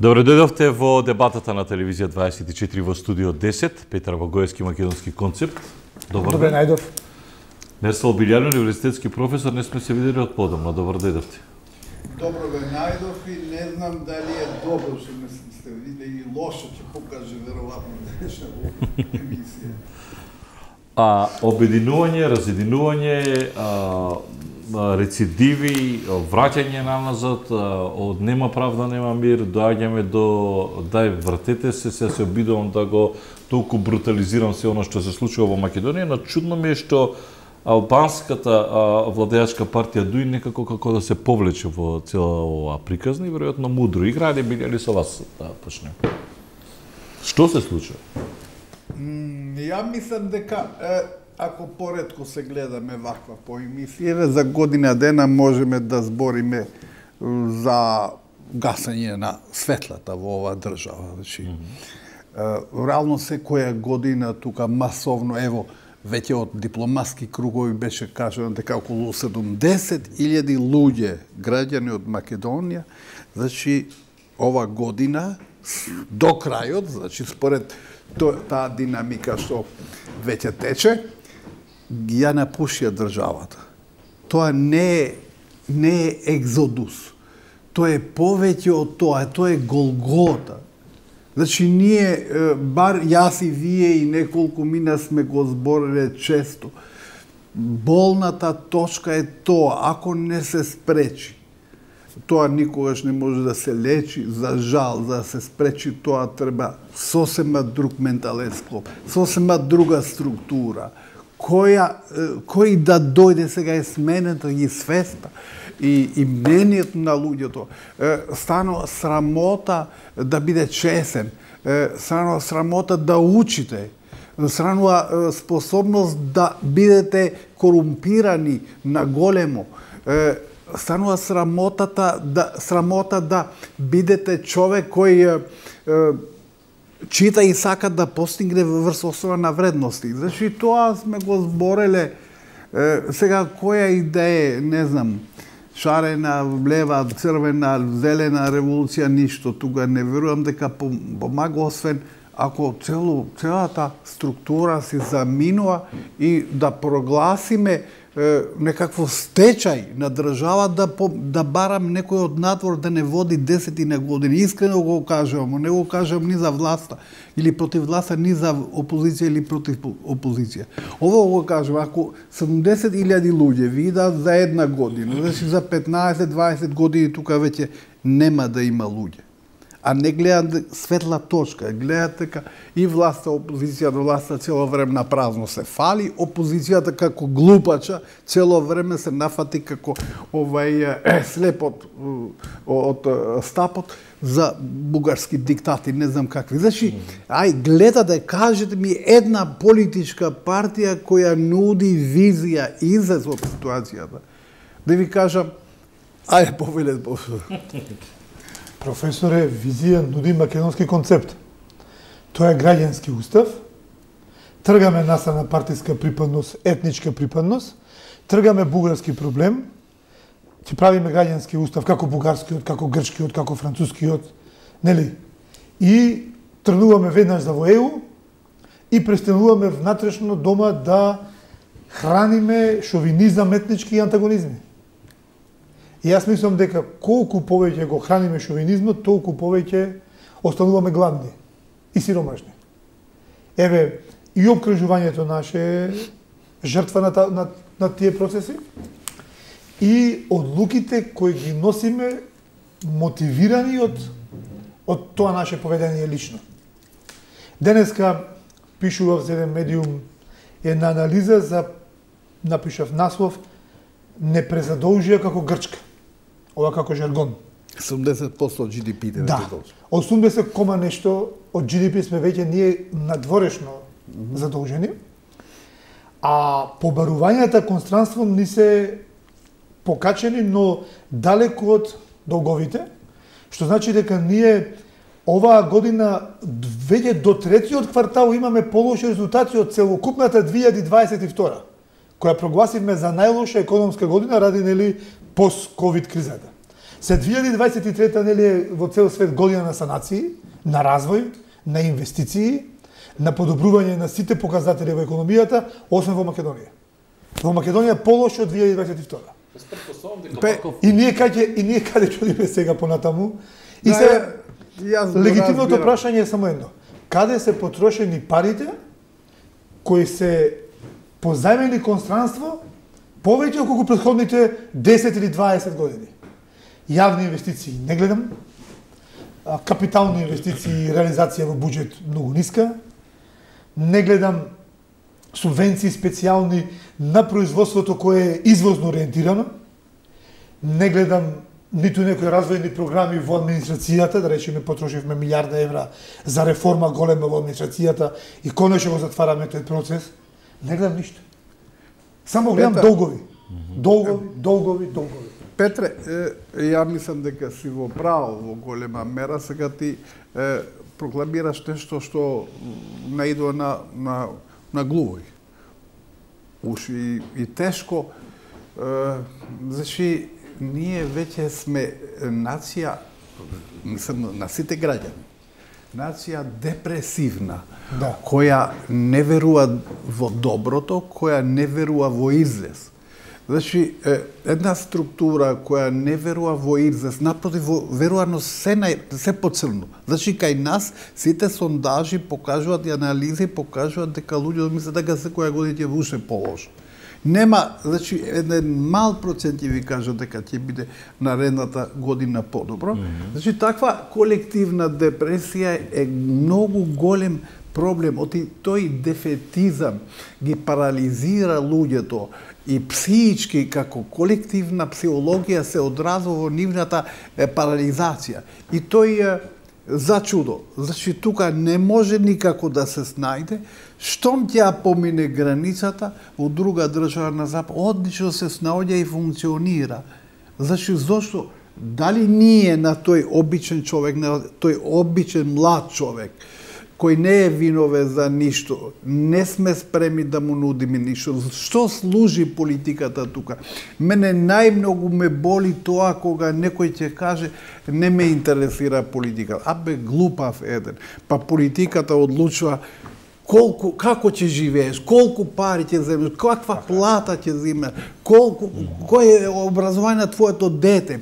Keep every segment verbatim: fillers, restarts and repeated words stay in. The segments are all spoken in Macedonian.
Добре дојдовте во дебатата на телевизија дваесет и четири во студио десет, Петар Вагоевски, Македонски концепт. Добар Добре најдов. Мерсал Билјан, универзитетски професор, не сме се видели од подамна. Добар дојдовте. Добро ве најдов и не знам дали е добро што не сте видели и лошо ќе покаже веројатно деша во емисија. А обединување, разединување, а, рецидиви, враќање назад, од нема правда, нема мир, доаѓаме до дај вратете се, се се обидувам да го толку брутализирам се она што се случува во Македонија, но чудно ми е што албанската а, владеачка партија дуи некако како да се повлече во цела ова приказна и веројатно мудро игра, не биле со вас да почнем. Што се случува? Mm, ја мислам дека е, ако поредко се гледаме ваква по емисија, за година дена можеме да збориме за гасање на светлата во оваа држава. Значи, mm -hmm. реално секоја година тука масовно, ево, веќе од дипломатски кругови беше кажано дека околу седумдесет илјади луѓе, граѓани од Македонија, значи ова година до крајот, значи според таа динамика што веќе тече, ја напушија државата. Тоа не е, не е екзодус. Тоа е повеќе од тоа, тоа е Голгота. Значи, ние, бар јас и вие и неколку мина сме го збориле често, болната точка е тоа, ако не се спречи. Тоа никогаш не може да се лечи, за жал, за да се спречи тоа треба сосема друг ментален склоп, сосема друга структура, која, кој да дојде сега е смената и свеста и, и мнението на луѓето. Станува срамота да биде чесен, станува срамота да учите, станува способност да бидете корумпирани на големо, станува срамотата да срамота да бидете човек кој е, чита и сака да постигне врз основа на вредности. Значи тоа сме го збореле. Е, сега која идеја, не знам, шарена, лева, црвена, зелена револуција, ништо тука не верувам дека помага, освен ако цело, целата структура се заминува и да прогласиме некакво стечај на држава да, да барам некој од надвор да не води десетина години. Искрено го кажувам, не го кажувам ни за власта или против власта, ни за опозиција или против опозиција. Ово го кажувам, ако седумдесет илјади луѓе видат за една година, значи за петнаесет дваесет години тука веќе нема да има луѓе. А не гледаат светла точка, гледаат дека и власта, опозицијата, власта цело време на празно се фали, опозицијата како глупача цело време се нафати како овај е, слепот од стапот за бугарски диктати, не знам какви. Значи, ај гледате, кажете ми една политичка партија која нуди визија излез од ситуацијата. Да ви кажам, ајде повелет професор. Професоре, визија нуди македонски концепт. Тоа е граѓански устав. Тргаме настрана партиска припадност, етничка припадност, тргаме бугарски проблем, ќе правиме граѓански устав како бугарскиот, како грчкиот, како францускиот, нели? И тргнуваме веднаш за во Е У и престануваме внатрешно дома да храниме шовинизам, етнички и антагонизми. И јас мислам дека колку повеќе го храниме шовинизмот, толку повеќе остануваме гладни и сиромашни. Еве, и обкружувањето наше е жртва на, та, на, на тие процеси и одлуките кои ги носиме мотивирани од, од тоа наше поведение лично. Денеска пишував за еден медиум една анализа за, напишав наслов, не презадолжија како Грчка. Ова како жаргон. седумдесет проценти од Джи Ди Пи. Да, осумдесет кома нешто од Джи Ди Пи сме веќе ние надворешно mm -hmm. задолжени, а побарувањата констранством ни се покачени, но далеку од долговите, што значи дека ние оваа година веќе до третиот квартал имаме полоши резултати од целокупната две илјади дваесет и втора, која прогласивме за најлоша економска година ради нели пост-ковид кризата. Се две илјади дваесет и трета нели е во цел свет година на санации, на развој, на инвестиции, на подобрување на сите показатели во економијата, освен во Македонија. Во Македонија полошо од две илјади дваесет и втора. Пе, и ние каде и ние каде чудиме сега понатаму. И да, се јас легитимното прашање е само едно. Каде се потрошени парите кои се позајмени кон странство повеќе отколку претходните десет или дваесет години? Јавни инвестиции не гледам, капитални инвестиции и реализација во буџет многу ниска, не гледам субвенции специјални на производството кое е извозно ориентирано, не гледам ниту некои развојни програми во администрацијата, да речеме потрошивме милиарда евра за реформа голема во администрацијата и конечно го затвараме тој процес, не гледам ништо. Само гледам Петре, долгови. Долгови, долгови, долгови. Петре, е, ја мислам дека си во право во голема мера, сега ти е, прокламираш нешто што наидува на, на, на глувој. Уж и, и тешко, е, значи, ние веќе сме нација, мислам, на сите граѓани, нација депресивна, Да. која не верува во доброто, која не верува во излез. Значи, една структура која не верува во излез, напротив, верува но се, на, се поцрно. Значи, кај нас сите сондажи покажуваат и анализи покажуваат дека луѓето мислат дека секоја година ќе уште полошо. Нема, значи, еден мал процент ќе ви кажа дека ќе биде наредната година подобро. Mm -hmm. Значи, таква колективна депресија е многу голем проблем. Оти тој дефетизам ги парализира луѓето и психички, како колективна психологија се одразува во нивната е, парализација. И тој е за чудо. Значи, тука не може никако да се снајде. Штом ќе помине границата во друга држава на запад, одлично се снаоѓа и функционира. Значи, зошто? Дали ние на тој обичен човек, на тој обичен млад човек, кој не е виновен за ништо, не сме спремни да му нудиме ништо. Што служи политиката тука? Мене најмногу ме боли тоа кога некој ќе каже не ме интересира политика. Абе, глупав еден. Па политиката одлучува колку, како ќе живееш, колку пари ќе земеш, каква плата ќе земеш, колку, кој е образование на твоето дете,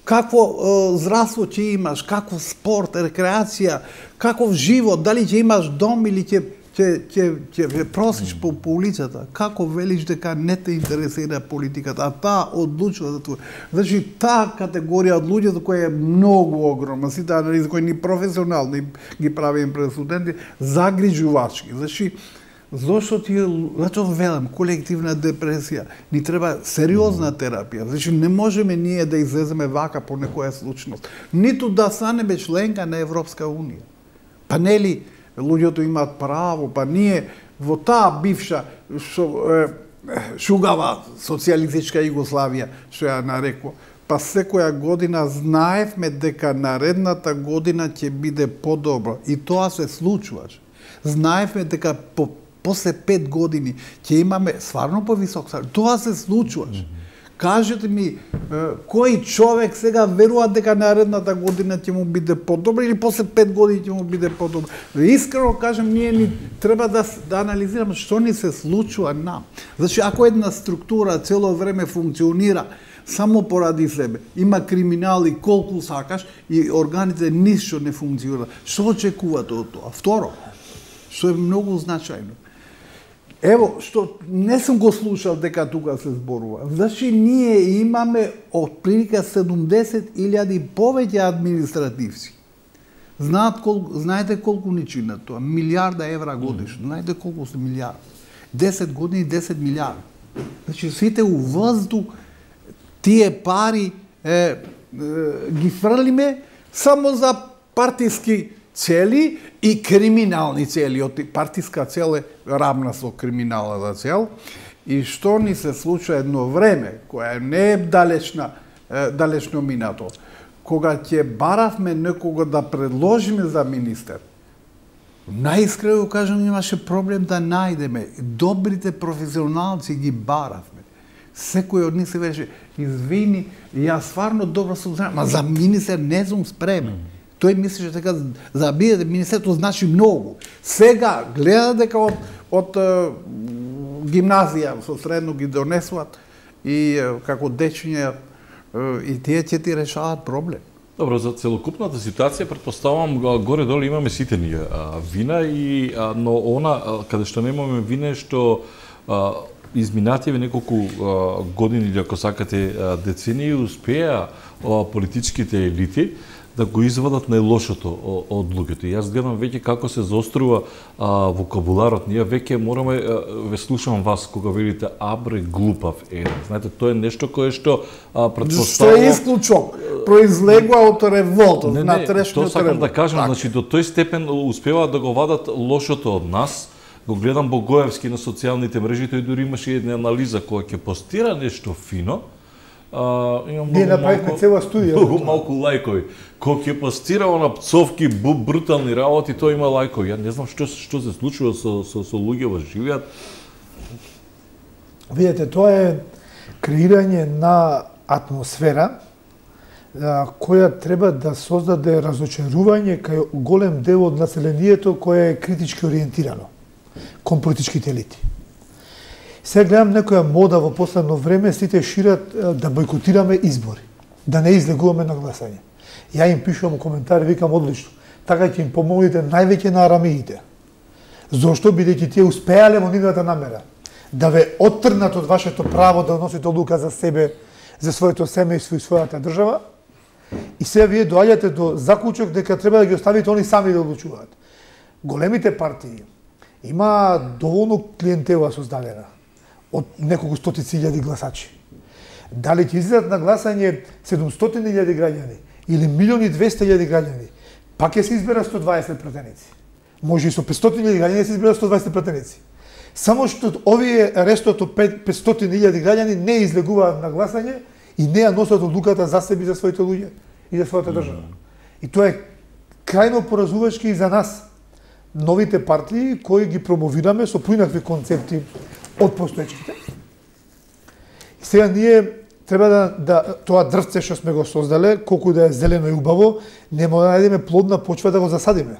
какво е, здравство ќе имаш, каков спорт, рекреација, каков живот, дали ќе имаш дом или ќе ќе ќе ќе просиш по, по улицата, како велиш дека не те интересира политиката, а таа одлучува за тоа. Значи таа категорија од луѓето која е многу огромна, сите анализи кои ни професионални ги правиме пред студенти, загрижувачки. Значи зошто ти зато велам колективна депресија, ни треба сериозна терапија. Значи не можеме ние да излеземе вака по некоја случност, ниту да станеме членка на Европска унија. Па нели луѓето имаат право, па ние во таа бивша шо, е, шугава социјалистичка Југославија, што ја нарекува, па секоја година знаевме дека наредната година ќе биде подобро и тоа се случуваше. Знаевме дека по после пет години ќе имаме стварно повисок салари. Тоа се случуваше. Кажете ми, кој човек сега верува дека наредната година ќе му биде подобро или после пет години ќе му биде подобро? Искрено кажам, ние ни треба да, да анализираме што ни се случува нам. Значи, ако една структура цело време функционира само поради себе, има криминали колку сакаш и органите ништо не функционира, што очекувате од тоа? Второ, што е многу значајно, ево, што не сум го слушал дека тука се зборува. Значи, ние имаме отприлика седумдесет илјади повеќе административци. Знаат колку, знаете колку ни чинат тоа? Милиарда евра годишно. Знаете колку се милиарди? десет години, десет милиарди. Значи, сите у воздух тие пари е, е, ги фрлиме само за партиски цели и криминални цели. Партиска цел е равна со криминалната цел. И што ни се случува едно време, која не е далечна, е, далечно минато, кога ќе баравме некого да предложиме за министер, најискрено кажам, имаше проблем да најдеме. Добрите професионалци ги баравме. секој од нив се веше, извини, ја стварно добро сум знаем, ма за министер не сум спремен. Тој мислеше дека за бидете министерство значи многу. Сега гледа дека од, од е, гимназија со средно ги донесуваат и е, како дечиња и тие ќе ти решаваат проблем. Добро, за целокупната ситуација претпоставувам горе-долу имаме сите ние а, вина и а, но она а, каде што немаме вина е што а, изминативе неколку а, години или ако сакате а, децении успеа а, политичките елити да го извадат најлошото од луѓето. И јас гледам веќе како се заострува а, вокабуларот. Ние веќе мораме, а, ве слушам вас кога велите абре глупав е. Знаете, тоа е нешто кое што а, Што претпоставува... е исклучок, произлегува од револтот, не, на не, трешниот тоа сакам револт. да кажам, Так. значи до тој степен успеваат да го вадат лошото од нас. Го гледам Богоевски на социјалните мрежи, тој дури имаше една анализа која ќе постира нешто фино. А, имам Ние направивме цела студија. Многу малку лајкови. Кога ќе постира на пцовки, бу, брутални работи, тоа има лајкови. Ја не знам што што се случува со со, со луѓе во живеат. Видете, тоа е креирање на атмосфера а, која треба да создаде разочарување кај голем дел од населението кое е критички ориентирано кон политичките елити. Сега гледам некоја мода во последно време, сите шират а, да бойкотираме избори, да не излегуваме на гласање. Ја им пишувам коментари, викам одлично. Така ќе им помогнете највеќе на арамиите. Зошто? Бидејќи тие успеале во нивната намера да ве оттрнат од вашето право да носите одлука за себе, за своето семејство и својата држава. И сега вие доаѓате до заклучок дека треба да ги оставите они сами да одлучуваат. Големите партии има доволно клиентела создадена од неколку стотици илјади гласачи. Дали ќе излезат на гласање седумстотини илјади граѓани или милиони и двесте илјади граѓани, пак ќе се избера сто дваесет пратеници. Може и со петстотини илјади граѓани се избера сто дваесет пратеници. Само што овие рестото петстотини илјади граѓани не излегуваат на гласање и не ја носат одлуката за себе и за своите луѓе и за својата држава. И тоа е крајно поразувачки и за нас, новите партии кои ги промовираме со поинакви концепти од постоечките. И сега ние треба да, да тоа дрвце што сме го создале, колку да е зелено и убаво, нема да најдеме плодна почва да го засадиме.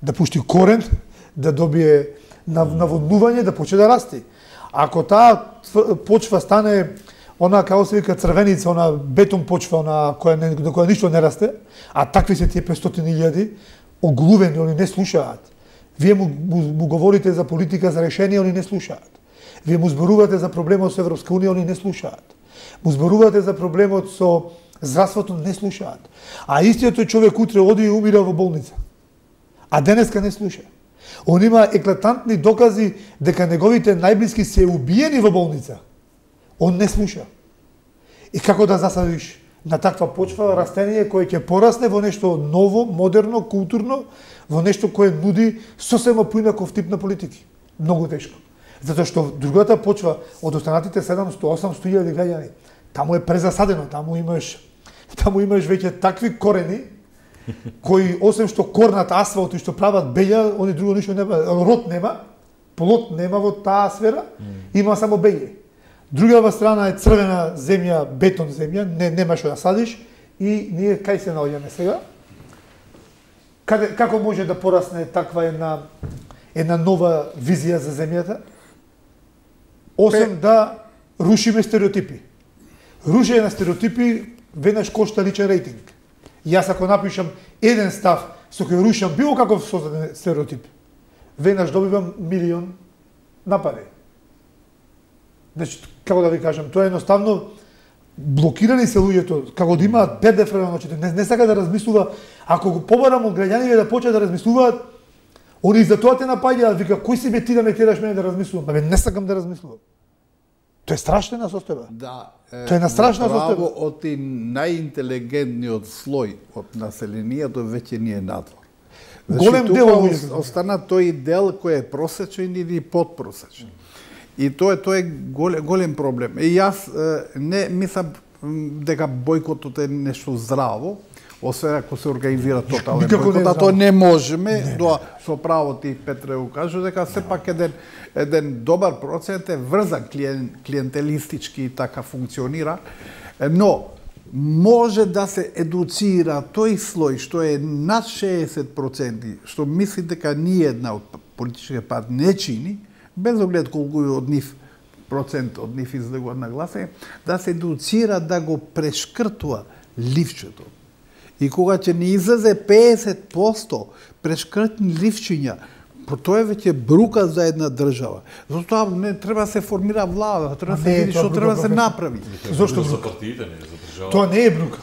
Да пушти корен, да добие наводнување, да почне да расти. Ако таа почва стане она како се вика црвеница, она бетон почва, она која не, на која ништо не расте, а такви се тие петстотини илјади, оглувени, они не слушаат. Вие му, му, му говорите за политика, за решение, они не слушаат. Вие му зборувате за проблемот со Европска унија, они не слушаат. Му зборувате за проблемот со здравството, не слушаат. А истиот тој човек утре оди и умира во болница. А денеска не слуша. Он има еклатантни докази дека неговите најблиски се убиени во болница. Он не слуша. И како да засадиш на таква почва растение кое ќе порасне во нешто ново, модерно, културно, во нешто кое нуди сосема поинаков тип на политики. Многу тешко. Затоа што другата почва од останатите седумсто осумсто илјади граѓани, таму е презасадено, таму имаш таму имаш веќе такви корени кои освен што корнат асфалт и што прават беља, они друго ништо нема, род нема, плод нема во таа сфера, има само беље. Другава страна е црвена земја, бетон земја, не нема што да садиш и ние кај се наоѓаме сега? Каде, како може да порасне таква една една нова визија за земјата? Освен Пе... да рушиме стереотипи. Рушење на стереотипи веднаш кошта личен рейтинг. Јас ако напишам еден став со кој рушам било каков создаден стереотип, веднаш добивам милион напади. Значи, како да ви кажам, тоа е едноставно блокирани се луѓето, како да имаат перде френа ночите, не, не сака да размислува, ако го побарам од граѓаните да почнат да размислуваат, они за тоа те напаѓаат, вика, кој си бе ти да ме тераш мене да размислувам? Бе, не сакам да размислувам. Тоа е страшна состојба. Да. Тоа е на страшна состојба. Право од и најинтелигентниот слој од населението веќе не е надвор. Голем Значи, дел тука луѓето. остана тој дел кој е просечен или подпросечен. И тоа е тоа е голем, голем проблем. И јас е, не мислам дека бојкотот е нешто здраво, освен ако се организира тотален Никако не бойкот, а знам. тоа не можеме, тоа со право ти Петре го кажу дека сепак еден еден добар процент е врзан клиен, клиентелистички и така функционира, но може да се едуцира тој слој што е над шеесет проценти, што мисли дека ни една од политичките партии не чини, без оглед колку од нив процент од нив излегува на гласање, да се едуцира да го прешкртува ливчето. И кога ќе ни излезе пеесет проценти прешкртни ливчиња, тоа е веќе брука за една држава. Затоа не треба да се формира влада, треба да се види што треба да се направи. Зошто за брука? партиите, не за држава? Тоа не е брука.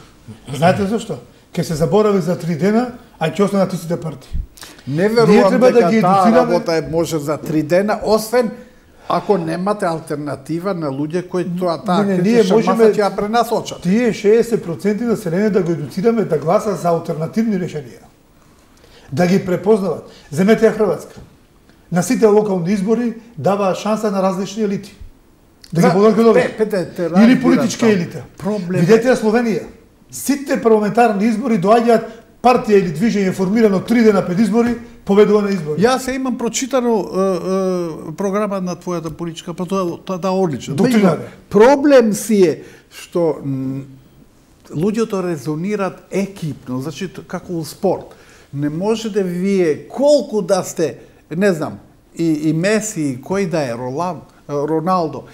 Знаете зашто? Ке се заборави за три дена, а ќе останат истите партии. Не Ние верувам треба да дека ги таа едуцираме. работа е може за три дена, освен ако немате алтернатива на луѓе кои тоа таа Не, не, ние критична можеме- маса ќе ја пренасочат. Тие шеесет проценти население да го едуцираме да гласа за алтернативни решенија. Да ги препознават. Земете ја Хрватска. На сите локални избори даваа шанса на различни елити. Да ги подготват. Или политичка елита. Проблем. Видете ја Словенија. Сите парламентарни избори доаѓаат партија или движење формирано три дена пред избори, победува на избори. Јас се имам прочитано е, е, програма на твојата политичка, па тоа тоа да одлично. Доктрина Меѓутоа, проблем си е што м, луѓето резонираат екипно, значи т- како у спорт. Не можете вие колку да сте, не знам, и, и Меси, и кој да е, Ролан, Роналдо,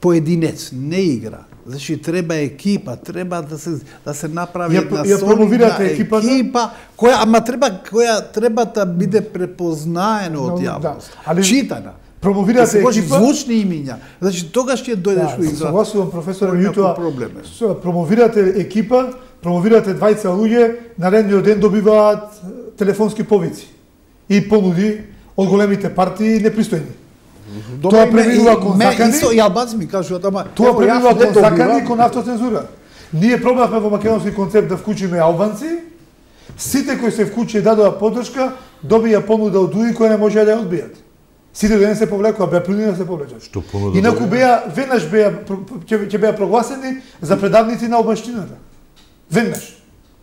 поединец не игра. Значи треба екипа, треба да се да се направи Ја- една ја промовирате солидна екипата? екипа, која ама треба која треба да биде препознаена од Но, јавност. да, али- Читана. Да Промовирате се може екипа. звучни имиња. Значи тогаш ќе дојдеш Да, во се игра. согласувам, професор, Кој меѓутоа проблем е. со- промовирате екипа, промовирате двајца луѓе, наредниот ден добиваат е, телефонски повици и понуди од големите партии непристојни. Тоа и ме- преминува и- кон ме- закани. Исто и албанци ми кажуваат, ама Тоа ево, јас преминува не кон добивам. закани, кон автоцензура. Ние пробавме во македонски концепт да вклучиме албанци, сите кои се вклучи и дадоа поддршка, добија понуда од УИ која не може да ја одбијат. Сите ден се повлекува, беа принудени да се повлечат. Што понуда Инаку добија? беа, веднаш беа, ќе ќе беа прогласени за предавници на албанштината. Веднаш.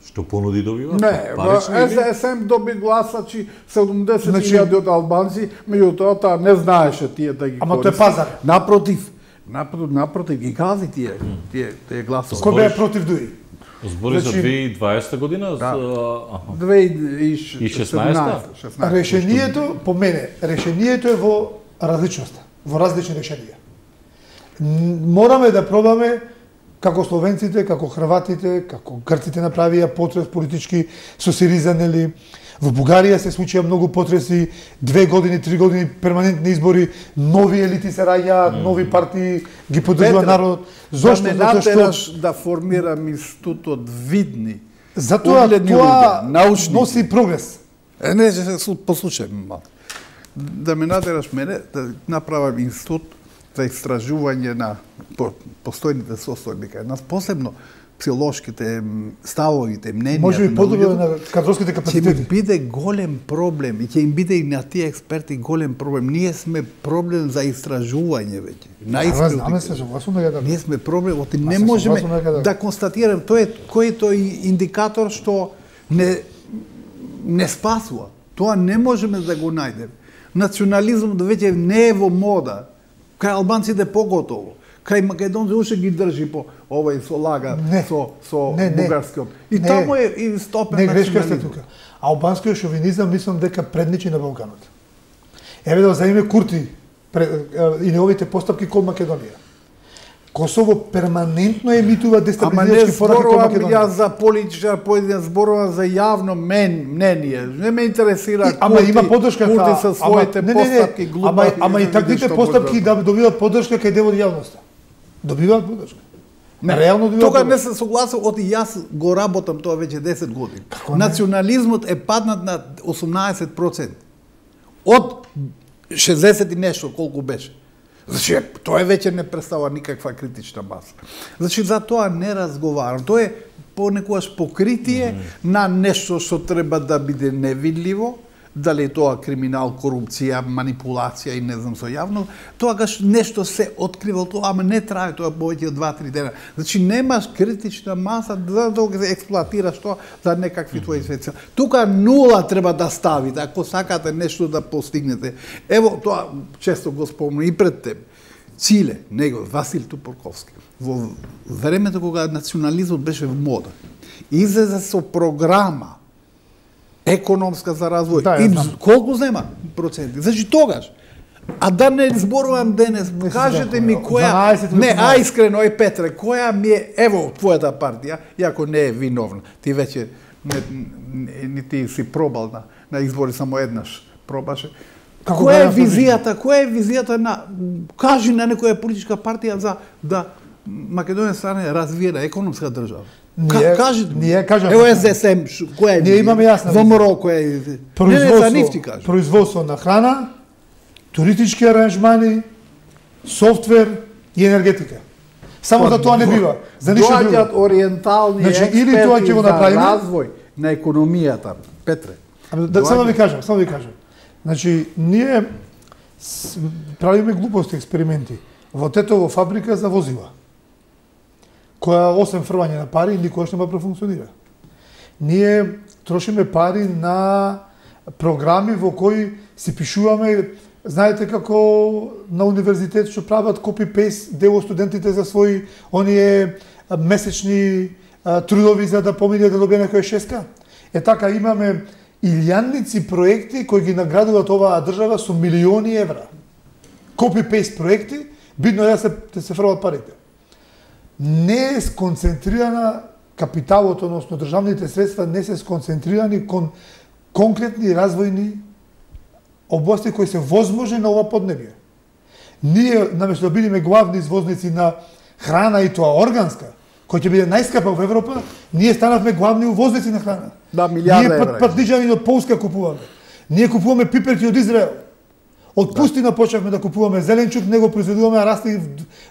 Што понуди добива? Не, Парични или? С С М доби гласачи седумдесет Значи- илјади од албанци, меѓутоа таа не знаеше тие да ги Ама тоа е користи. пазар. Напротив, напротив, напротив ги гази тие, тие, тие гласови. Кој беа против ДУИ? Збори за Значи- две илјади и дваесета година? Да. За- аха. две илјади и И шеснаесета? шеснаесета. Решението, по мене, решението е во различноста, во различни решенија. Н- Мораме да пробаме како словенците, како хрватите, како грците направија потрес политички со Сириза, нели. Во Бугарија се случија многу потреси, две години, три години перманентни избори, нови елити се раѓаат, нови партии ги поддржува Петре, народ. Зошто? Да ме Затоа што натераш да формирам институт видни. затоа угледни тоа луѓе, научници. носи прогрес. Е, не, се су- послушај ме малку. Да ме натераш мене да направам институт за истражување на по, постојните состојби кај нас, посебно психолошките м, ставовите, мненијата Може би на подобро луѓето, на кадровските ќе ми капацитети. биде голем проблем и ќе им биде и на тие експерти голем проблем. Ние сме проблем за истражување веќе. Ама знаме се, Најискрено. согласувам дека Ние сме проблем, оти не се можеме согласувам дека да. да констатираме, тој е кој е тој индикатор што не не спасува. Тоа не можеме да го најдеме. Национализмот веќе не е во мода. Кај албанците поготово. Кај македонците уште ги држи по овој со лага Не. со со Не, не. бугарскиот. И Не. таму е и стопен Не грешка сте национализм. тука. Албанскиот шовинизам мислам дека предничи на Балканот. Еве да земеме Курти пре- е, и неговите постапки кон Македонија. Косово перманентно емитува Ама не дестабилизирачки пораки кон зборувам Македонија. ја за политичар поединец, зборувам за јавно мен, мнение. Не ме интересира И- Ама Курти, има поддршка Курти кај- со ама- своите не, не, не, постапки глупави. Ама, ама и да таквите видиш што постапки може да добиваат поддршка кај дел од јавноста. Добиваат поддршка. Не, Реално добиваат Тога не поддршка. се согласил, оти јас го работам тоа веќе десет години. Како не? Национализмот е паднат на осумнаесет проценти. Од шездесет и нешто колку беше. Значи, тоа е веќе не представува никаква критична маса. Значи, за тоа не разговарам. Тоа е понекогаш покритие mm -hmm. на нешто што треба да биде невидливо, дали тоа криминал, корупција, манипулација и не знам со јавно, тогаш нешто се открива тоа, ама не трае тоа повеќе од два-три дена. Значи немаш критична маса за да го експлоатираш тоа за некакви твои цели. Тука нула треба да ставите ако сакате нешто да постигнете. Ево тоа често го спомнам и пред тебе. Циле, него Васил Тупорковски. Во времето кога национализмот беше в мода, излезе со програма економска за развој. Да, и знам. колку зема проценти? Значи тогаш. А да не зборувам денес, Не се кажете знам, ми која... дванаесет Не, години. а искрено, е Петре, која ми е, ево, твојата партија, иако не е виновна. Ти веќе, не, не, не ти си пробал на, на избори само еднаш пробаше. Како Која е гледаш на визијата, која е визијата на, кажи на некоја политичка партија за да Македонија стане развиена економска држава? Ние- кажи, ние кажаме- Ево С С М, ш- која е Ние имаме јасна Во визија. МРО, која е... Не, не, за нив ти кажа. производство на храна, туристички аранжмани, софтвер и енергетика. Само за тоа не бива, за ништо Доаѓаат друго. ориентални Значи, експерти или тоа ќе го за направиме- развој на економијата. Петре. Ама да, само да ви доаѓаат- кажам, само да ви кажам. Значи, ние с- правиме глупости експерименти. Во Тетово фабрика за возила, која осем фрвање на пари никогаш нема профункционира. Ние трошиме пари на програми во кои си пишуваме, знаете како на универзитет што прават копи-пейст дел од студентите за своји оние а, месечни а, трудови за да помине да добие некоја шеска. Е така имаме илјадници проекти кои ги наградуваат оваа држава со милиони евра. Копи-пейст проекти, бидно е да се, да се фрлат парите. Не е сконцентрирана капиталот, односно државните средства не се сконцентрирани кон конкретни развојни области кои се возможни на ова поднебје. Ние, наместо да бидеме главни извозници на храна и тоа органска, која ќе биде најскапа во Европа, ние станавме главни увозници на храна. Да, милиарда Ние евра. пат, патничани од Полска купуваме. Ние купуваме пиперки од Израел. Од пустина почнавме да купуваме зеленчук, него произведуваме, а расте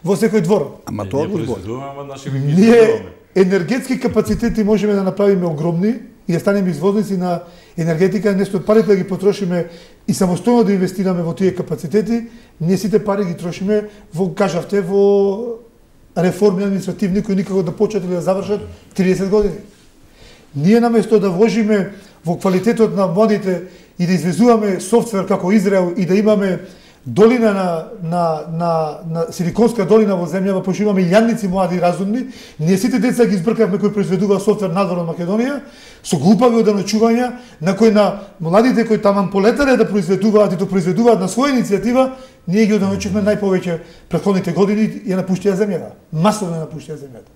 во секој двор. Ама тоа го збори. произведуваме, ама наши ги Ние произведуваме. енергетски капацитети можеме да направиме огромни и да станеме извозници на енергетика, несто парите да ги потрошиме и самостојно да инвестираме во тие капацитети, ние сите пари ги трошиме во, кажавте, во реформи административни кои никако да почнат или да завршат триесет години. Ние наместо да вложиме во квалитетот на младите и да извезуваме софтвер како Израел и да имаме долина на, на, на, на Силиконска долина во земјава, пошто имаме илјадници млади и разумни, ние сите деца ги избркавме кои произведува софтвер надвор од Македонија, со глупави оданочувања, на кои на младите кои таман полетале да произведуваат и да произведуваат на своја иницијатива, ние ги оданочивме најповеќе претходните години и ја напуштија земјата. Масовно ја напуштија земјата.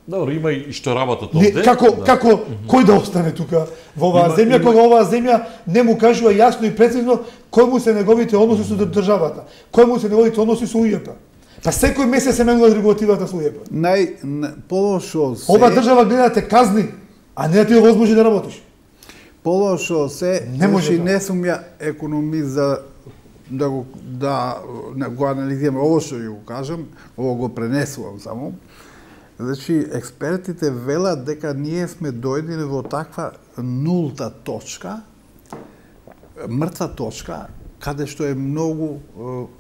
Добро, има и што работат Не, овде. како, да. како, кој да остане тука во оваа Има- земја, има- кога оваа земја не му кажува јасно и прецизно кој му се неговите односи со државата, кој му се неговите односи со УЈП. Па секој месец се менува регулативата со УЈП. Нај на- полошо се... Ова држава гледа да те казни, а не да ти овозможи да работиш. Полошо се, Не може значи, да. не сум ја економист за да го, да, да го анализираме ово што ја го кажам, ово го пренесувам само. Значи, експертите велат дека ние сме дојдени во таква нулта точка, мртва точка, каде што е многу е,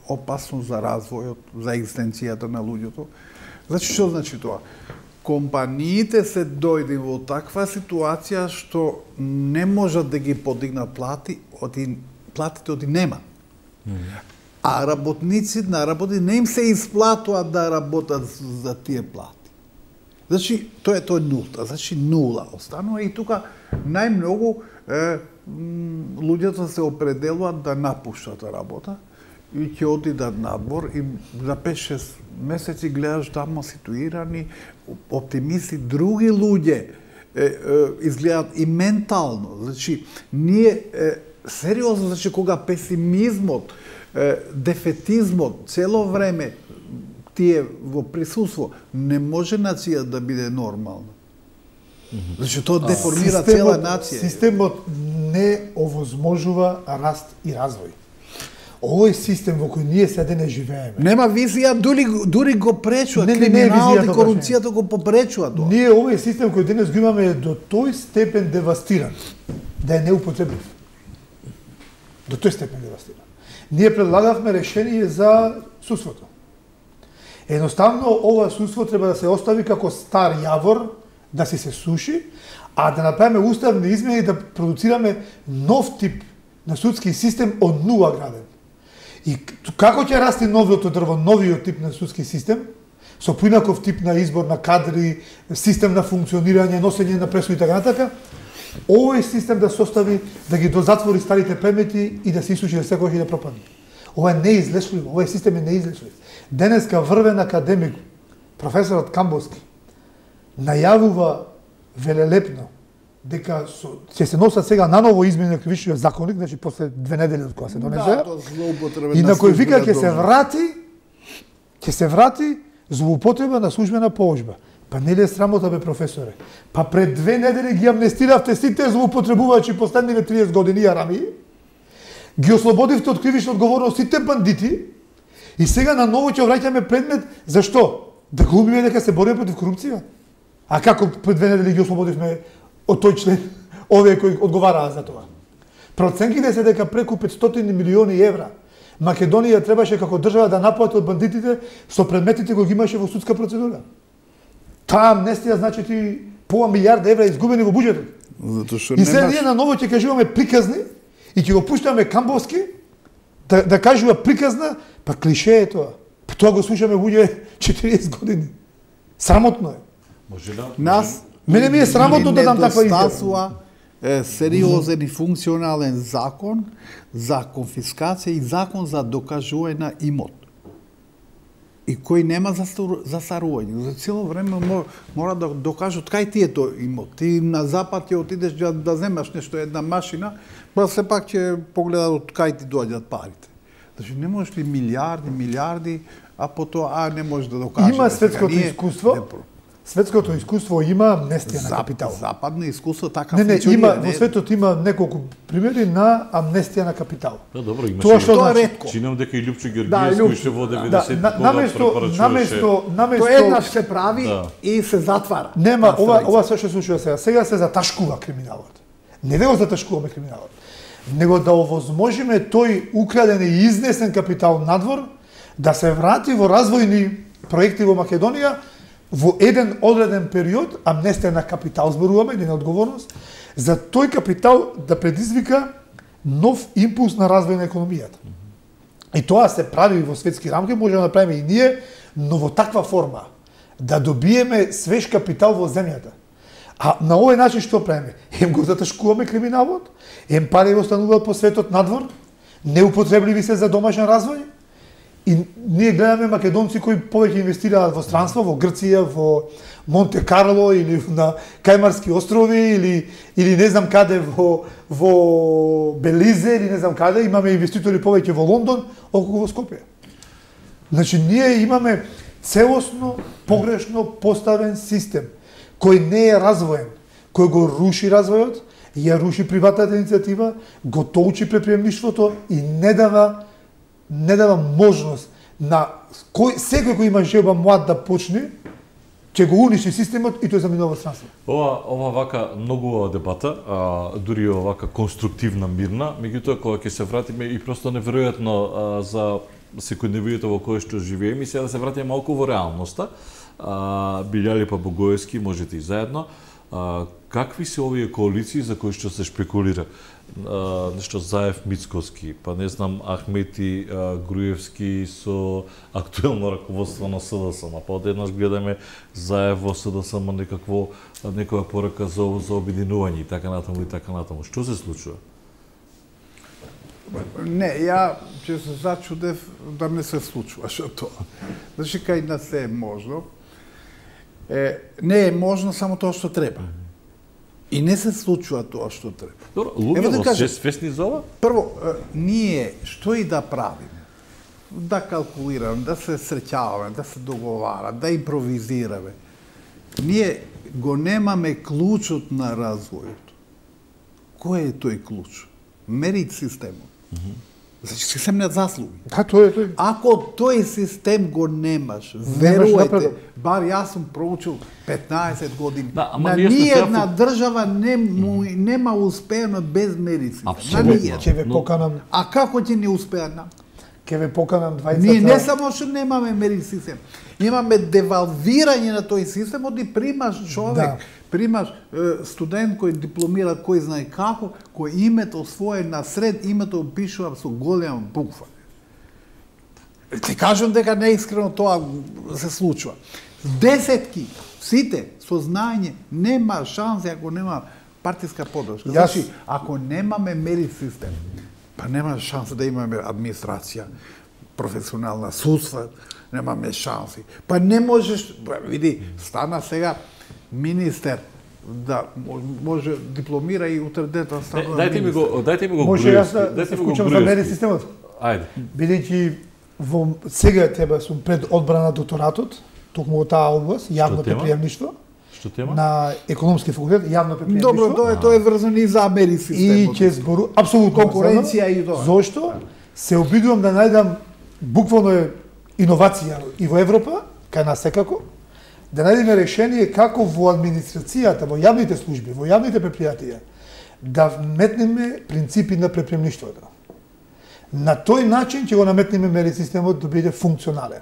опасно за развојот, за екзистенцијата на луѓето. Значи, што значи тоа? Компаниите се дојде во таква ситуација што не можат да ги подигнат плати, оти платите оти нема. А работници на работи не им се исплатува да работат за тие плати. Значи, тоа е тоа е нулта, значи нула останува и тука најмногу е, м, луѓето се определуваат да напуштат работа и ќе отидат надвор и за пет-шест месеци гледаш тамо ситуирани оптимисти, други луѓе е, е, изгледаат и ментално. Значи, ние е, сериозно, значи кога песимизмот, е, дефетизмот цело време тие во присуство, не може нација да биде нормална. Значи тоа деформира цела нација. Системот не овозможува раст и развој. Овој систем во кој ние сега не живееме. Нема визија, дури, дури го пречува, Не, не, не е криминалот и визијата, корупцијата го попречува тоа. Ние овој систем кој денес го имаме е до тој степен девастиран да е неупотреблив. До тој степен девастиран. Ние предлагавме решение за судството. Едноставно, ова судство треба да се остави како стар јавор, да си се суши, а да направиме уставни измени и да продуцираме нов тип на судски систем од нула граден. И како ќе расти новиот дрво, новиот тип на судски систем, со поинаков тип на избор на кадри, систем на функционирање, носење на пресуди и така натака, овој систем да се остави, да ги дозатвори старите предмети и да се исуши да секој да пропадне. Ова е неизлечливо, овој систем е неизлечлив. Денеска врвен академик, професорот Камбовски, најавува велелепно дека ќе се носат сега наново измени на кривичниот законник, значи после две недели од кога се донесе. Да, тоа злоупотреба. И на кој вика ќе се врати, ќе се врати злоупотреба на службена положба. Па нели е срамота, бе, професоре? Па пред две недели ги амнестиравте сите злоупотребувачи последниве триесет години арами, ги ослободивте од кривична одговорност сите бандити и сега на ново ќе враќаме предмет зашто? Да глумиме дека се бориме против корупција? А како пред две недели ги ослободивме од тој член, овие кои одговараа за тоа? Проценките се дека преку петстотини милиони евра Македонија требаше како држава да наплати од бандитите со предметите кои ги имаше во судска процедура. Таа амнестија значи ти пола милиарда евра изгубени во буџетот. Затоа што и сега немаш... ние на ново ќе кажуваме приказни и ќе го пуштаме Камбовски да, да кажува приказна, па клише е тоа. Па тоа го слушаме луѓе четириесет години. Срамотно е. Може да? Нас Мене ми е срамотно да дам таква изјава. Е, сериозен и функционален закон за конфискација и закон за докажување на имот. И кој нема застарување. За цело време мора, мора да докажат кај ти е тој имот. Ти на запад ќе отидеш да, да земаш нешто, една машина, па се пак ќе погледат од кај ти доаѓаат парите. Значи не можеш ли милиарди, милиарди, а потоа а не можеш да докажеш. Има светското ние, искуство. Не, Светското искуство има амнестија на Зап, капитал. Западно искуство така Не, не, функционира. има во светот има неколку примери на амнестија на капитал. Да, добро, имаше. Тоа што Тоа е значи? ретко. Чинам дека и Лјупчо Да, Георгиевски Лјуп- уште во Да, деветдесет на- наместо наместо наместо Тоа еднаш се прави Да. и се затвара. Нема, На ова страница. ова се што се случува сега. Сега се заташкува криминалот. Не да го заташкуваме криминалот, него да овозможиме тој украден и изнесен капитал надвор да се врати во развојни проекти во Македонија во еден одреден период, амнестија на капитал зборуваме, или на одговорност, за тој капитал да предизвика нов импулс на развој на економијата. И тоа се прави во светски рамки, може да направиме и ние, но во таква форма, да добиеме свеж капитал во земјата. А на овој начин што правиме? Ем го заташкуваме криминалот, ем пари остануваат по светот надвор, неупотребливи се за домашен развој, и ние гледаме македонци кои повеќе инвестираат во странство, во Грција, во Монте Карло или на Кајмарски острови или или не знам каде во во Белизе или не знам каде, имаме инвеститори повеќе во Лондон, околу во Скопје. Значи ние имаме целосно погрешно поставен систем кој не е развоен, кој го руши развојот, ја руши приватната иницијатива, го толчи предприемништвото и не дава не дава можност на кој секој кој има желба млад да почне, ќе го уништи системот и тој заминува во странство. Ова ова вака многу дебата, а, дури овака конструктивна, мирна, меѓутоа кога ќе се вратиме и просто неверојатно а, за секојдневието во кое што живееме, и сега да се вратиме малку во реалноста. А, Билјали па Богоевски, можете и заедно. А, какви се овие коалиции за кои што се шпекулира? А, нешто Заев Мицковски, па не знам Ахмети а, Груевски со актуелно раководство на СДСМ, па одеднаш гледаме Заев во СДСМ некакво некоја порака за за обединување и така натаму и така натаму. Што се случува? Не, ја ќе се зачудев да не се случуваше тоа. Значи, кај нас е можно. Е, не е можно само тоа што треба. И не се случува тоа што треба. Добро, Ево да луѓето кажем. се свесни за ова? Прво, е, ние што и да правиме, да калкулираме, да се среќаваме, да се договараме, да импровизираме, ние го немаме клучот на развојот. Кој е тој клуч? Мерит системот. Значи систем на заслуги. Да, тоа е тој. Ако тој систем го немаш, верујте, бар јас сум проучил петнаесет години, Да, ама на вие сте ниједна сега- држава не, му, нема успеано без медицина. На Апсолутно. ниједна. Ќе ве Но- поканам, А како ќе не успеа? ќе ве поканам двајцата. Ние не само што немаме медицински систем, имаме девалвирање на тој систем, оди примаш човек, Да. примаш е, студент кој дипломира кој знае како, кој името свое на сред името пишува со голема буква. Ти кажам дека неискрено тоа се случува. Десетки, сите со знаење, нема шанси ако нема партиска поддршка. Јас- Значи, ако немаме медицински систем, па нема шанса да имаме администрација, професионална судства, немаме шанси. Па не можеш, па, види, стана сега министер да мо- може дипломира и утре дета стана Е, Дајте ми го, дајте ми го Може јас да, Груевски, да дајте се ми го вклучам за Груевски. меди системот? Ајде. Бидејќи во сега треба сум пред одбрана на докторатот, токму во таа област, јавно тема? предприемништво, Што тема? на економски факултет, јавно предприемништво. Добро, тоа е тоа е врзано и за медицински И системот. ќе збору апсолутно Конкуренција врзано. и тоа. Зошто се обидувам да најдам буквално е иновација и во Европа, кај нас секако, да најдеме решение како во администрацијата, во јавните служби, во јавните предпријатија, да вметнеме принципи на предприемништвото. На тој начин ќе го наметнеме медицински системот да биде функционален.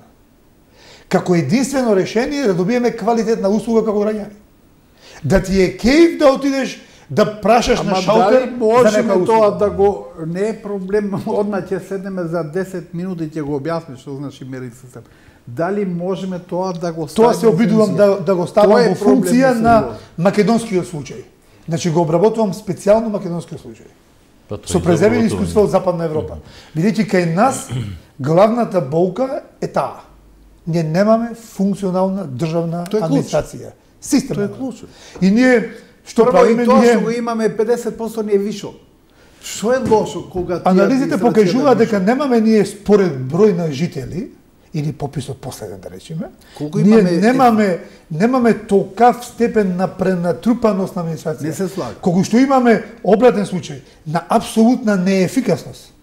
Како единствено решение да добиеме квалитетна услуга како граѓани. Да ти е кејф да отидеш да прашаш на Ама шалтер дали можеме за тоа да го не е проблем, одма ќе седнеме за десет минути и ќе го објасниме што значи медицински систем. Дали можеме тоа да го ставиме? Тоа се обидувам да, да го ставам Тоа е во проблем функција на на сериозно. македонскиот случај. Значи го обработувам специјално македонскиот случај. Па тоа Со е преземени добро, искуства од Западна Европа. Бидејќи кај нас главната болка е таа. Ние немаме функционална државна Тоа е клуч. администрација. Систем. Тоа е немаме. клучно. И ние што Прво и правиме тоа ние што го имаме педесет проценти ни е вишо. Што е лошо кога ти анализите администрацијата покажуваат вишо? дека немаме ние според број на жители или пописот последен да речеме, Колку ние имаме- немаме немаме толкав степен на пренатрупаност на администрација. Не се слагам. Колку што имаме обратен случај на апсолутна неефикасност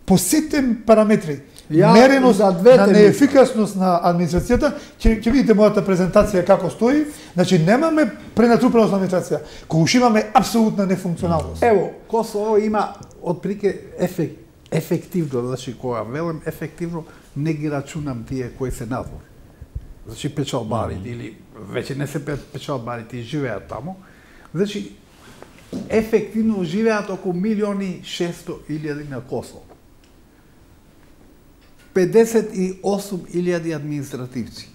по сите параметри. Ја мереност за двете на мислам. неефикасност на администрацијата, ќе ќе видите мојата презентација како стои, значи немаме пренатрупаност на администрација, колку што имаме апсолутна нефункционалност. Ево, Косово има отприлike ефек, ефективно, значи кога велам ефективно, не ги рачунам тие кои се надвор. Значи печалбари или веќе не се пе- печалбари, тие живеат таму. Значи ефективно живеат околу милиони шесто илјади на Косово. педесет и осум илјади административци.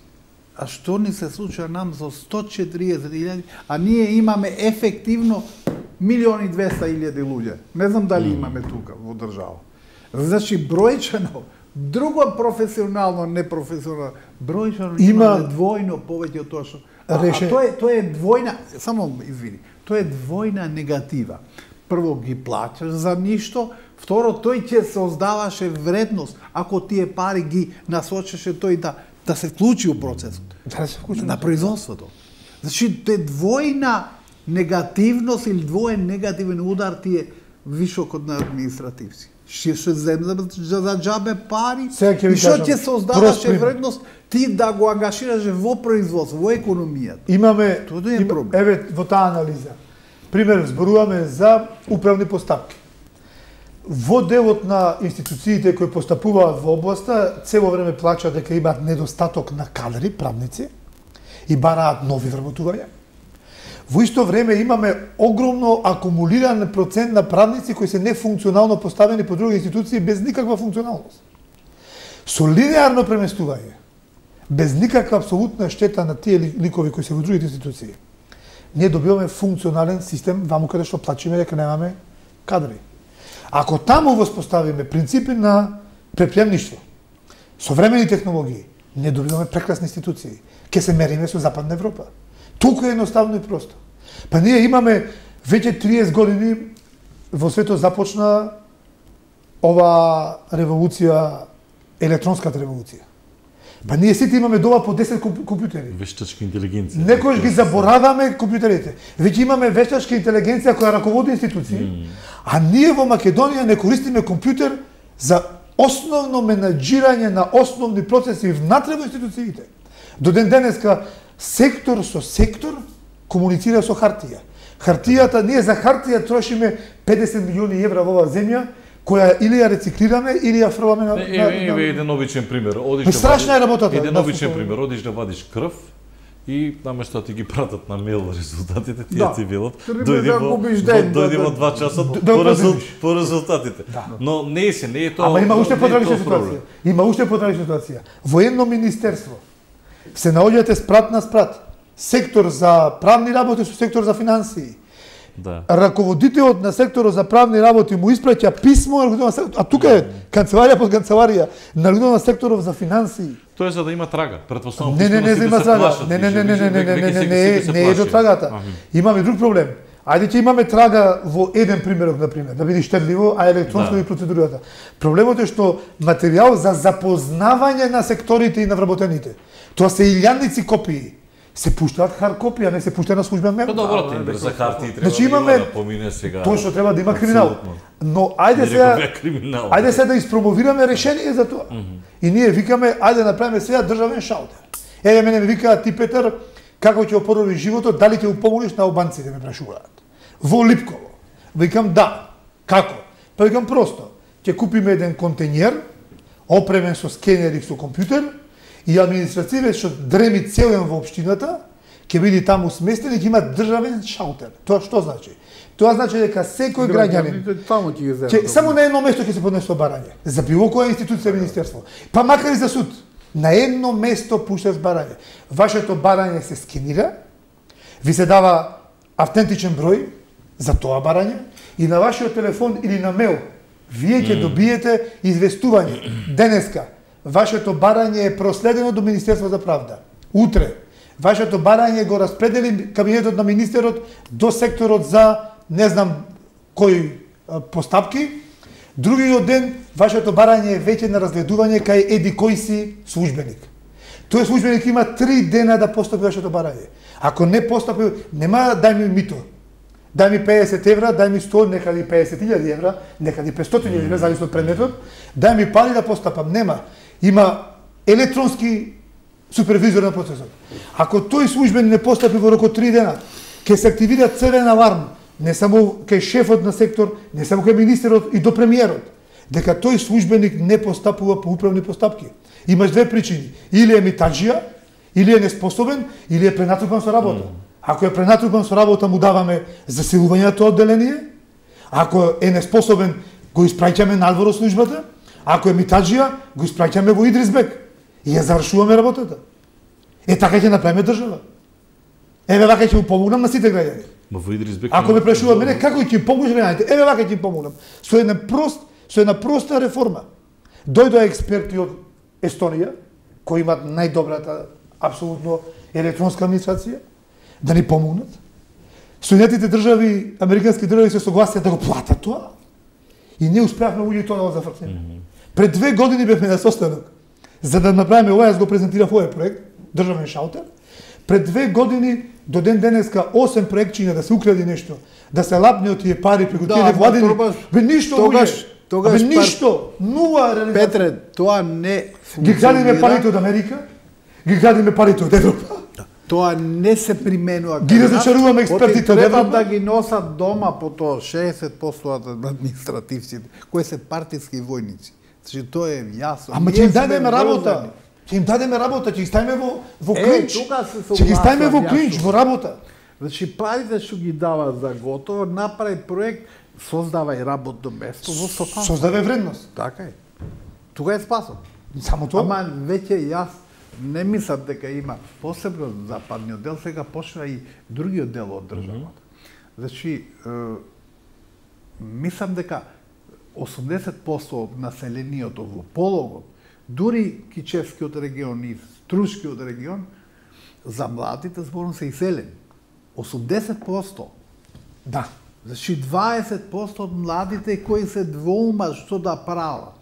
А што ни се случува нам за сто четиридесет илјади, а ние имаме ефективно милиони двеста илјади луѓе. Не знам дали имаме тука во држава. Значи бројчано, друго професионално, непрофесионално, бројчано Има- имаме двојно повеќе од тоа што. А, а Реше- тоа е тоа е двојна, само извини, тоа е двојна негатива. Прво ги плаќаш за ништо, второ тој ќе создаваше вредност ако тие пари ги насочеше тој да да се вклучи у процесот Да се вклучи на производството. Значи тоа е двојна негативност или двоен негативен удар тие вишокот на административци. Ще се земе за, за джабе пари Сега ќе ви и што кажам, ќе прост создаваше пример. вредност ти да го ангажираш во производство, во економијата. Имаме Тоа да е има- проблем. еве во таа анализа. Пример зборуваме за управни постапки. Во делот на институциите кои постапуваат во областа, цело време плачат дека имаат недостаток на кадри, правници, и бараат нови вработувања. Во исто време имаме огромно акумулиран процент на правници кои се нефункционално поставени по други институции без никаква функционалност. Со линеарно преместување, без никаква апсолутна штета на тие ли- ликови кои се во другите институции, ние добиваме функционален систем ваму каде што плачиме дека немаме кадри. Ако таму воспоставиме принципи на предприемништво, современи технологии, ние добиваме прекрасни институции. Ке се мериме со Западна Европа. Толку е едноставно и просто. Па ние имаме веќе триесет години во светот започна ова револуција, електронската револуција. Па ние сите имаме дома по десет комп- компјутери. Вештачка интелигенција. Некојаш ги забораваме компјутерите. Веќе имаме вештачка интелигенција која раководи институции, а ние во Македонија не користиме компјутер за основно менаџирање на основни процеси внатре во институциите. До ден денеска сектор со сектор комуницира со хартија. Хартијата, ние за хартија трошиме педесет милиони евра во оваа земја, која или ја рециклираме, или ја фрламе на... Еве еден обичен пример. Одиш да страшна е работата. Еден обичен пример. Одиш да вадиш крв и наместо да ти ги пратат на мейл резултатите, тие ти велат, дојди во два часа по резултатите. Но не е се, не е тоа. Ама има уште потрагична ситуација. Има уште потрагична ситуација. Во едно министерство се наоѓате спрат на спрат. Сектор за правни работи со сектор за финансии. Да. Раководителот на секторот за правни работи му испраќа писмо, а тука е канцеларија по канцеларија на луѓето на секторот за финансии. Тоа е за да има трага. Претпоставувам не, не, не, за има трага. Не, не, не, не, не, не, не, не, не, не, не е до трагата. Имаме друг проблем. Ајде ќе имаме трага во еден примерок, на пример, да биде штедливо, а електронско и процедурата. Проблемот е што материјал за запознавање на секторите и на вработените. Тоа се илјадници копии. Се пуштаат хар копија, не се пушта на службен мейл. Па добро, тендер за хартии треба значи, имаме... да помине сега. Точно треба да има криминал. Но ајде сега ајде сега да испромовираме решение за тоа. Mm -hmm. И ние викаме ајде направиме сега државен шалтер. Еве мене ми викаат ти Петар, како ќе опорови животот, дали ќе упомогнеш на албанците, ме прашуваат. Во Липково. Викам да. Како? Па викам просто. Ќе купиме еден контењер, опремен со скенер и со компјутер, и администрације што дреми целен во општината, ќе биде таму сместен и ќе има државен шалтер. Тоа што значи? Тоа значи дека секој граѓанин ќе само на едно место ќе се поднесе барање за било која институција, министерство, па макар и за суд. На едно место пушташ барање. Вашето барање се скенира, ви се дава автентичен број за тоа барање и на вашиот телефон или на мейл вие ќе добиете известување. Денеска вашето барање е проследено до Министерство за правда. Утре вашето барање го распредели кабинетот на министерот до секторот за не знам кои постапки. Другиот ден вашето барање е веќе на разгледување кај еди кој си службеник. Тој службеник има три дена да постапи вашето барање. Ако не постапи, нема дај ми мито. Дај ми педесет евра, дај ми сто, некаде педесет илјади евра, некаде петстотини евра, зависно од предметот. Дај ми пари да постапам. Нема. Има електронски супервизор на процесот. Ако тој службен не постапи во рок од три дена, ќе се активира црвен аларм, не само кај шефот на сектор, не само кај министерот и до премиерот, дека тој службеник не постапува по управни постапки. Имаш две причини. Или е митаџија, или е неспособен, или е пренатрупан со работа. Ако е пренатрупан со работа, му даваме засилување на тоа одделение. Ако е неспособен, го испраќаме надвор од службата. Ако е митаџија, го испраќаме во Идрисбек и ја завршуваме работата. Е, така ќе направиме држава. Еве вака ќе му помогнам на сите граѓани. Ма во Идрисбек. Ако ме прашува мене како ќе помогнеш граѓаните, еве вака ќе им помогнам. Со една прост, со една проста реформа. Дојдоа експерти од Естонија, кои имаат најдобрата апсолутно електронска администрација, да ни помогнат. Соединетите држави, американски држави се согласија да го платат тоа. И не успеавме луѓе тоа да го зафркнеме. Mm -hmm. Пред две години бевме на состанок за да направиме ова, јас го презентирав овој проект, државен шалтер. Пред две години до ден денеска осем проектчиња да се укради нешто, да се лапне од тие пари преку тие невладини. Бе ништо луѓе. Тогаш бе ништо, нула реализација. Петре, тоа не ги градиме парите од Америка, ги градиме парите од Европа. Тоа не се применува. Ги разочаруваме експертите од Европа. Треба да ги носат дома по тоа шеесет проценти од административците, кои се партиски војници. Значи тоа е јасно. Ама ќе им дадеме работа. Ќе им дадеме работа, ќе ги ставиме во во клинч. Ќе ги ставиме во клинч, во работа. Значи парите што ги дава за готово, направи проект, создавај работно место во стопанство. Создавај вредност. Така е. Тука е спасот. Само тоа. Ама веќе јас не мислам дека има посебно западниот дел, сега почна и другиот дел од државата. Значи, е, мислам дека осумдесет проценти од населението во Пологот, дури Кичевскиот регион и Струшкиот регион, за младите зборно се иселени. осумдесет проценти. Да. Значи дваесет проценти од младите кои се двоума што да прават.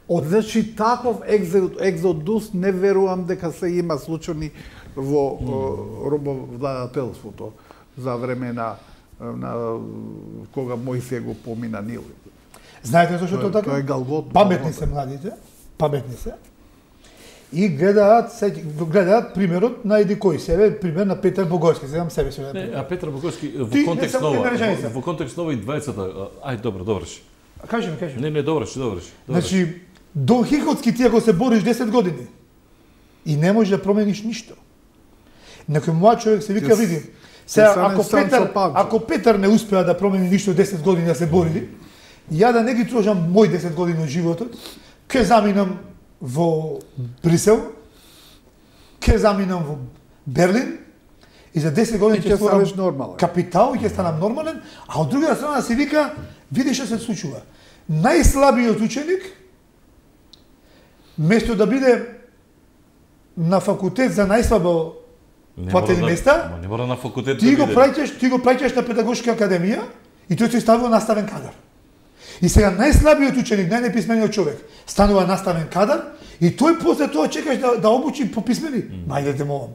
Од значи таков екзодус не верувам дека се има случаи во mm. робовладателството за време на, на кога Мојсија го помина Нил. Знаете зашто Тоа- тоа така? тоа е галгот, Паметни галгот. се младите, паметни се. И гледаат, се, гледаат примерот на еди кој себе, пример на Петар Богојски, знам себе се. Не, а Петар Богојски во Ти, не контекст само нова, една реченица. во, во контекст нова и двајцата, а, ај добро, доврши. Кажи ми, кажи ми. Не, не, доврши, доврши. доврши. Значи, Дон Хихотски ти ако се бориш десет години и не можеш да промениш ништо. Некој млад човек се вика, Ќе с- види, ќе сега, станеш ако Санчо Петар, Панчо. ако Петар не успеа да промени ништо десет години да се бори, ја да не ги трошам мој десет години од животот, ќе заминам во Брисел, ќе заминам во Берлин и за десет години И ќе ќе створам станеш нормален. капитал и ќе станам нормален, а од друга страна се вика, види што се случува. Најслабиот ученик, место да биде на факултет за најслабо Не платени мора да- места, ама не мора на факултет ти да го биде. праќаш, ти го праќаш на педагошка академија и тој се ставува наставен кадар. И сега најслабиот ученик, најнеписмениот човек, станува наставен кадар и тој после тоа чекаш да, да обучи по писмени. Мајдете молам.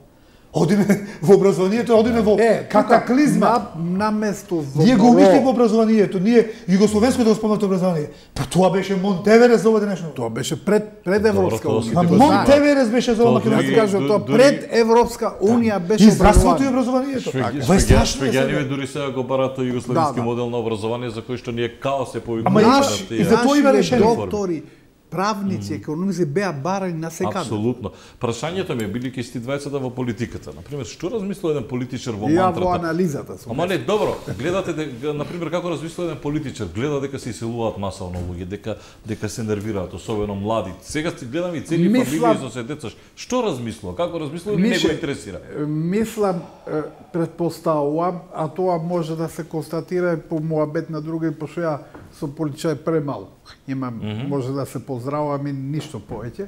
Одиме во образованието, одиме во Е, катаклизма. На, на место во Ние го Моро- убивме образованието, ние југословенското спомнато образование. Па тоа беше Монтеверес за ова денешно. Тоа беше пред пред Европска тоа унија. сите Ма го знаат. Монтеверес беше за ова Тоа Јас дури- македонска. кажам, тоа дури- пред Европска унија беше И здравството и образование. образованието. Швеги- Ова е швеги- страшно. е Швеѓаниви сега. дури сега го бараат тој југословенски Да, да. модел на образование за кој што ние као се повикуваме. Ама на имаш- тие- и за тоа има Нашиве решение. доктори, правници, економисти беа барани на секаде. Апсолутно. Прашањето ми е бидејќи сте двајцата во политиката. На пример, што размислува еден политичар во Ја во мантрата? анализата сум. Ама не, добро, гледате дека, на пример, како размислува еден политичар, гледа дека се иселуваат масовно луѓе, дека дека се нервираат, особено млади. Сега ти гледам и цели Мислам- фамилии со се деца. Што размислува? Како размислува или не Мише, го интересира? Мислам, е, предпоставувам, а тоа може да се констатира и по муабет на други, пошто ја со политичари премалку. Имам, mm -hmm. може да се поздравам и ништо повеќе.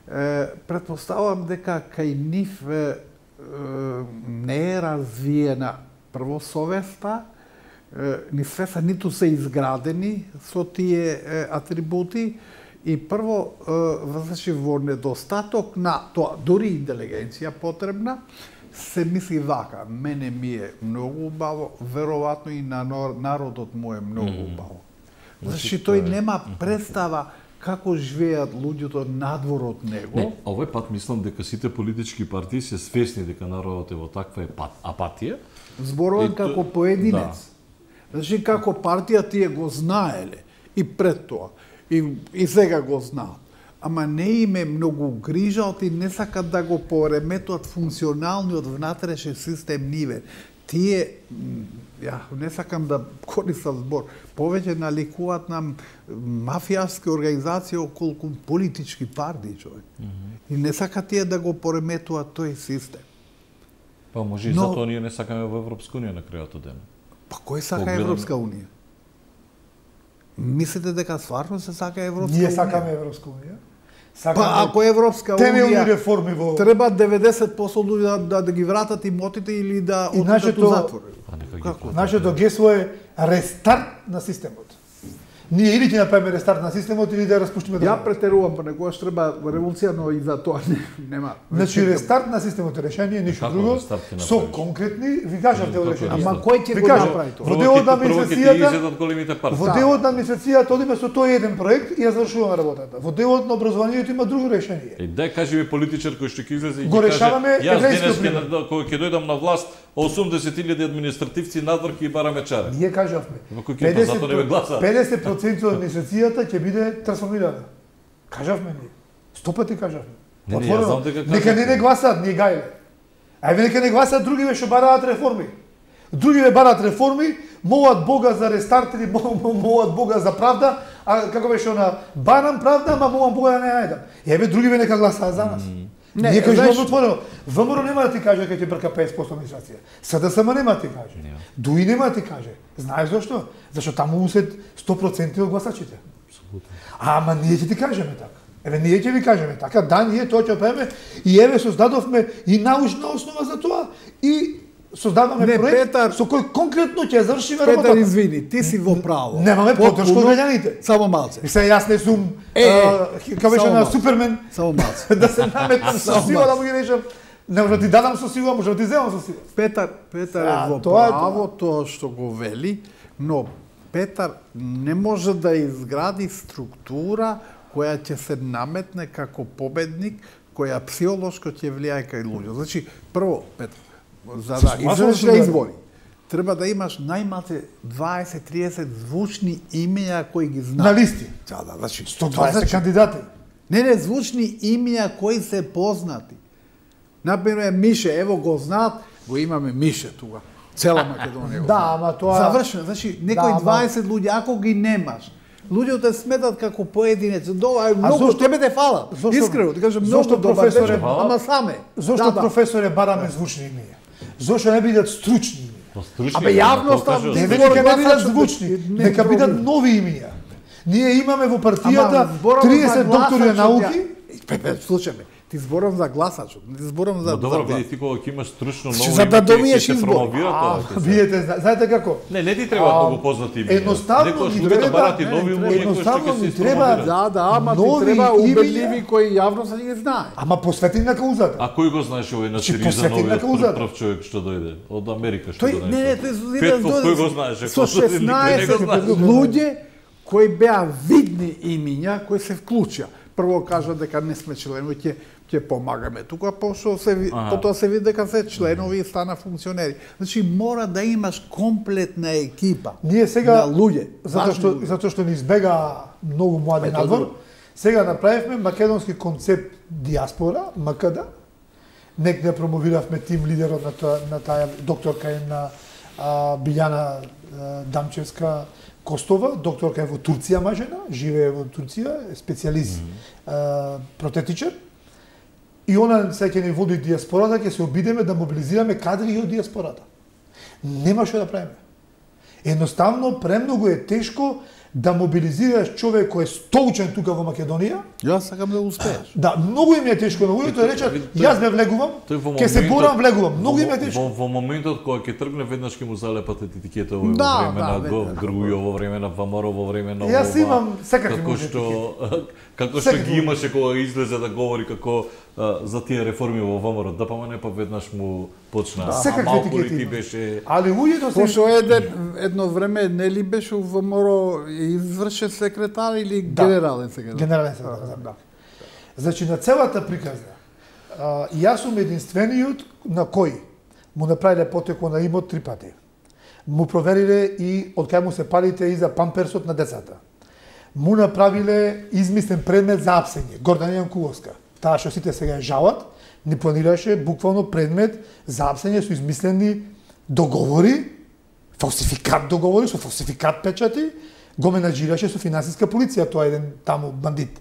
Е, предпоставувам дека кај нив е, е, не е развиена прво совеста, е, ни свеста ниту се изградени со тие е, атрибути, и прво, значи, во недостаток на тоа, дури интелигенција потребна, се мисли вака, мене ми е многу убаво, веројатно и на народот му е многу убаво. Значи, тој нема представа како живеат луѓето надвор од него. Не, овој пат мислам дека сите политички партии се свесни дека народот е во таква епат, апатија. Зборувам И то- како поединец. Значи, како партија тие го знаеле и пред тоа. И, и сега го знаат. Ама не им е многу грижа, и не сакат да го пореметуваат функционалниот внатрешен систем ниве. Тие, м, ја не сакам да користам збор, повеќе наликуваат нам мафијаски организации околку политички партии, човек. Mm -hmm. И не сакат тие да го пореметуваат тој систем. Па може и Но- затоа ние не сакаме во Европска унија на крајот од ден. Па кој сака Погледам- Европска унија? Мислите дека стварно се сака Европска Ние унија? сакаме Европска унија. Па Сакаме ако Европска темелни унија реформи во треба деветдесет проценти луѓе да, да, да ги вратат имотите или да И отидат нашето- у затвор. А нека ги Како? платат. нашето гесло е рестарт на системот. Ние или ќе направиме рестарт на системот или да ја распуштиме Ја државата. претерувам, понекогаш треба револуција, но и за тоа не, нема. Значи рестарт на системот е решение, ништо Како друго. рестарт ќе Со направиш? конкретни, ви кажавте Како решение. Ама рестарт? кој ќе Ви го кажам, направи тоа? во делот на Прво ќе ти администрацијата, изедат големите партии. во Да. делот на администрацијата одиме со тој еден проект и ја завршуваме работата. Во делот на образованието има друго решение. Е, дај кажи ми политичар кој што ќе излезе и Го ќе решаваме каже, јас еврејскиот денес пример. ќе, кога ќе дојдам на власт, осумдесет илјади административци надвор ќе бараме чаре. Ние кажавме, Во кој ќе па затоа не ме гласаат. педесет проценти од администрацијата ќе биде трансформирана. Кажавме ние. Сто пати кажавме. Не, не, Отворено. јас знам дека Нека не кажавте. не гласаат, ние гајле. Ајде нека не гласаат другиве што бараат реформи. Другиве бараат реформи, молат Бога за рестарт или мол- мол- молат Бога за правда, а како беше она, барам правда, ама молам Бога да не ја најдам. Еве другиве нека гласаат за нас. Не, Ние кажуваме знаеш- отворено. ВМРО нема да ти каже дека ќе брка петдесет проценти администрација. СДСМ нема да ти каже. Дуи нема да ти каже. Знаеш зашто? Зашто таму му се сто проценти од гласачите. Ама ние ќе ти кажеме така. Еве ние ќе ви кажеме така, да, ние тоа ќе правиме и еве создадовме и научна основа за тоа и создаваме Не, проект Петар- со кој конкретно ќе завршиме Петар, работата. извини, ти си во право. Немаме поддршка од граѓаните. Само малце. И сега јас не сум Е, а, како беше само на малце. Супермен Само малце. да се наметнам со Само сила да малце. му ги речам. Не може да ти дадам со сила, може да ти земам со сила. Петар, Петар А, е во тоа е право тоа што го вели, но Петар не може да изгради структура која ќе се наметне како победник, која психолошко ќе влијае кај луѓе. Значи, прво, Петар, за да излезеш на избори, треба да имаш најмалку дваесет до триесет звучни имења кои ги знаат. На листи. Да, да, значи сто дваесет кандидати. Не, не, звучни имења кои се познати. Например, Мише, ево го знаат, го имаме Мише тука. Цела Македонија го Да, знаат. ама тоа Завршено, значи некои Да, дваесет луѓе, ако ги немаш, луѓето сметат како поединец. Дова, многу зошто- тебе те фала. зошто- Искрено, ти кажам, зошто многу добар професоре дечко, фала? ама саме. Зошто Да, да. професоре бараме звучни имења? Зошто не бидат стручни имења? Стручни, Абе, јавноста, тоа кажа, Не Збор нека не гласачот бидат звучни, не нека бидат проблем. нови имења. Ние имаме во партијата Ама, зборам за триесет доктори на гласачот, науки. ја- Пепе, слушај ме, ти зборам за гласачот, не ти зборам за Но добро, за види глас. ти кога ќе имаш стручно Значи, ново за да име, ќе- добиеш ќе се избор. промовира тоа. А, ќе се- видите, зна- знаете како? Не, не ти треба А, многу познати имења. едноставно Некојаш ни луѓето треба- барат и не, нови не, умови кои што едноставно ќе ни се треба- испромовираат. Да, да, ама ти Нови треба имења. убедливи кои јавноста не ги знае. Ама посветени на каузата. А кој го знаеш овој на Значи, Сириза посвети на новиот каузата. прв, прв човек што дојде од Америка што Тој дојде? не, не, тој со Петков, кој го знаеше? Со Никој не го шеснаесет знаеше. луѓе кои беа видни имиња, кои се вклучија. Прво кажа дека не сме членови, ќе ќе помагаме тука, пошто се ви- Аха. потоа се види дека се членови и стана функционери. Значи мора да имаш комплетна екипа. Ние сега на луѓе, затоа важни што луѓе. затоа што ни избега многу млади Ето, надвор, друго. сега направивме македонски концепт диаспора, М К Д. Некде промовиравме тим лидерот на тоа на таа докторка е на а, Билјана а, Дамчевска Костова, докторка е во Турција мажена, живее во Турција, е специјалист mm -hmm. протетичар. И она се ќе ни води диаспората, ќе се обидеме да мобилизираме кадри и од диаспората. Нема што да правиме. Едноставно, премногу е тешко да мобилизираш човек кој е столчен тука во Македонија. Јас сакам да успееш. Да, многу им е тешко на луѓето, речат, јас ве влегувам, Тој во ќе се моментот- борам, влегувам. Многу им е во- тешко. Во, во моментот кога ќе тргне веднаш ќе му залепат етикета во Да, време да, на веднаш. Гов Грујо, во време на Вамаро, во време на Јас ова, имам секакви како може што како што Секакви ги имаше кога излезе да говори како а, за тие реформи во Вамаро, да помане па веднаш му почна. Да, А секакви малку ли етикети ти има. беше Али луѓето се Пошто еден, едно време нели беше во МОРО извршен секретар или Да. генерален секретар? генерален секретар. Да. Значи на целата приказна, а, јас сум единствениот на кој му направиле потеко на имот три пати. Му провериле и од кај му се палите и за памперсот на децата. Му направиле измислен предмет за апсење, Гордана Јанкуловска. Таа што сите сега ја жалат, ни планираше буквално предмет за апсење со измислени договори, фалсификат договори, со фалсификат печати, го менаџираше со финансиска полиција, тоа е еден таму бандит.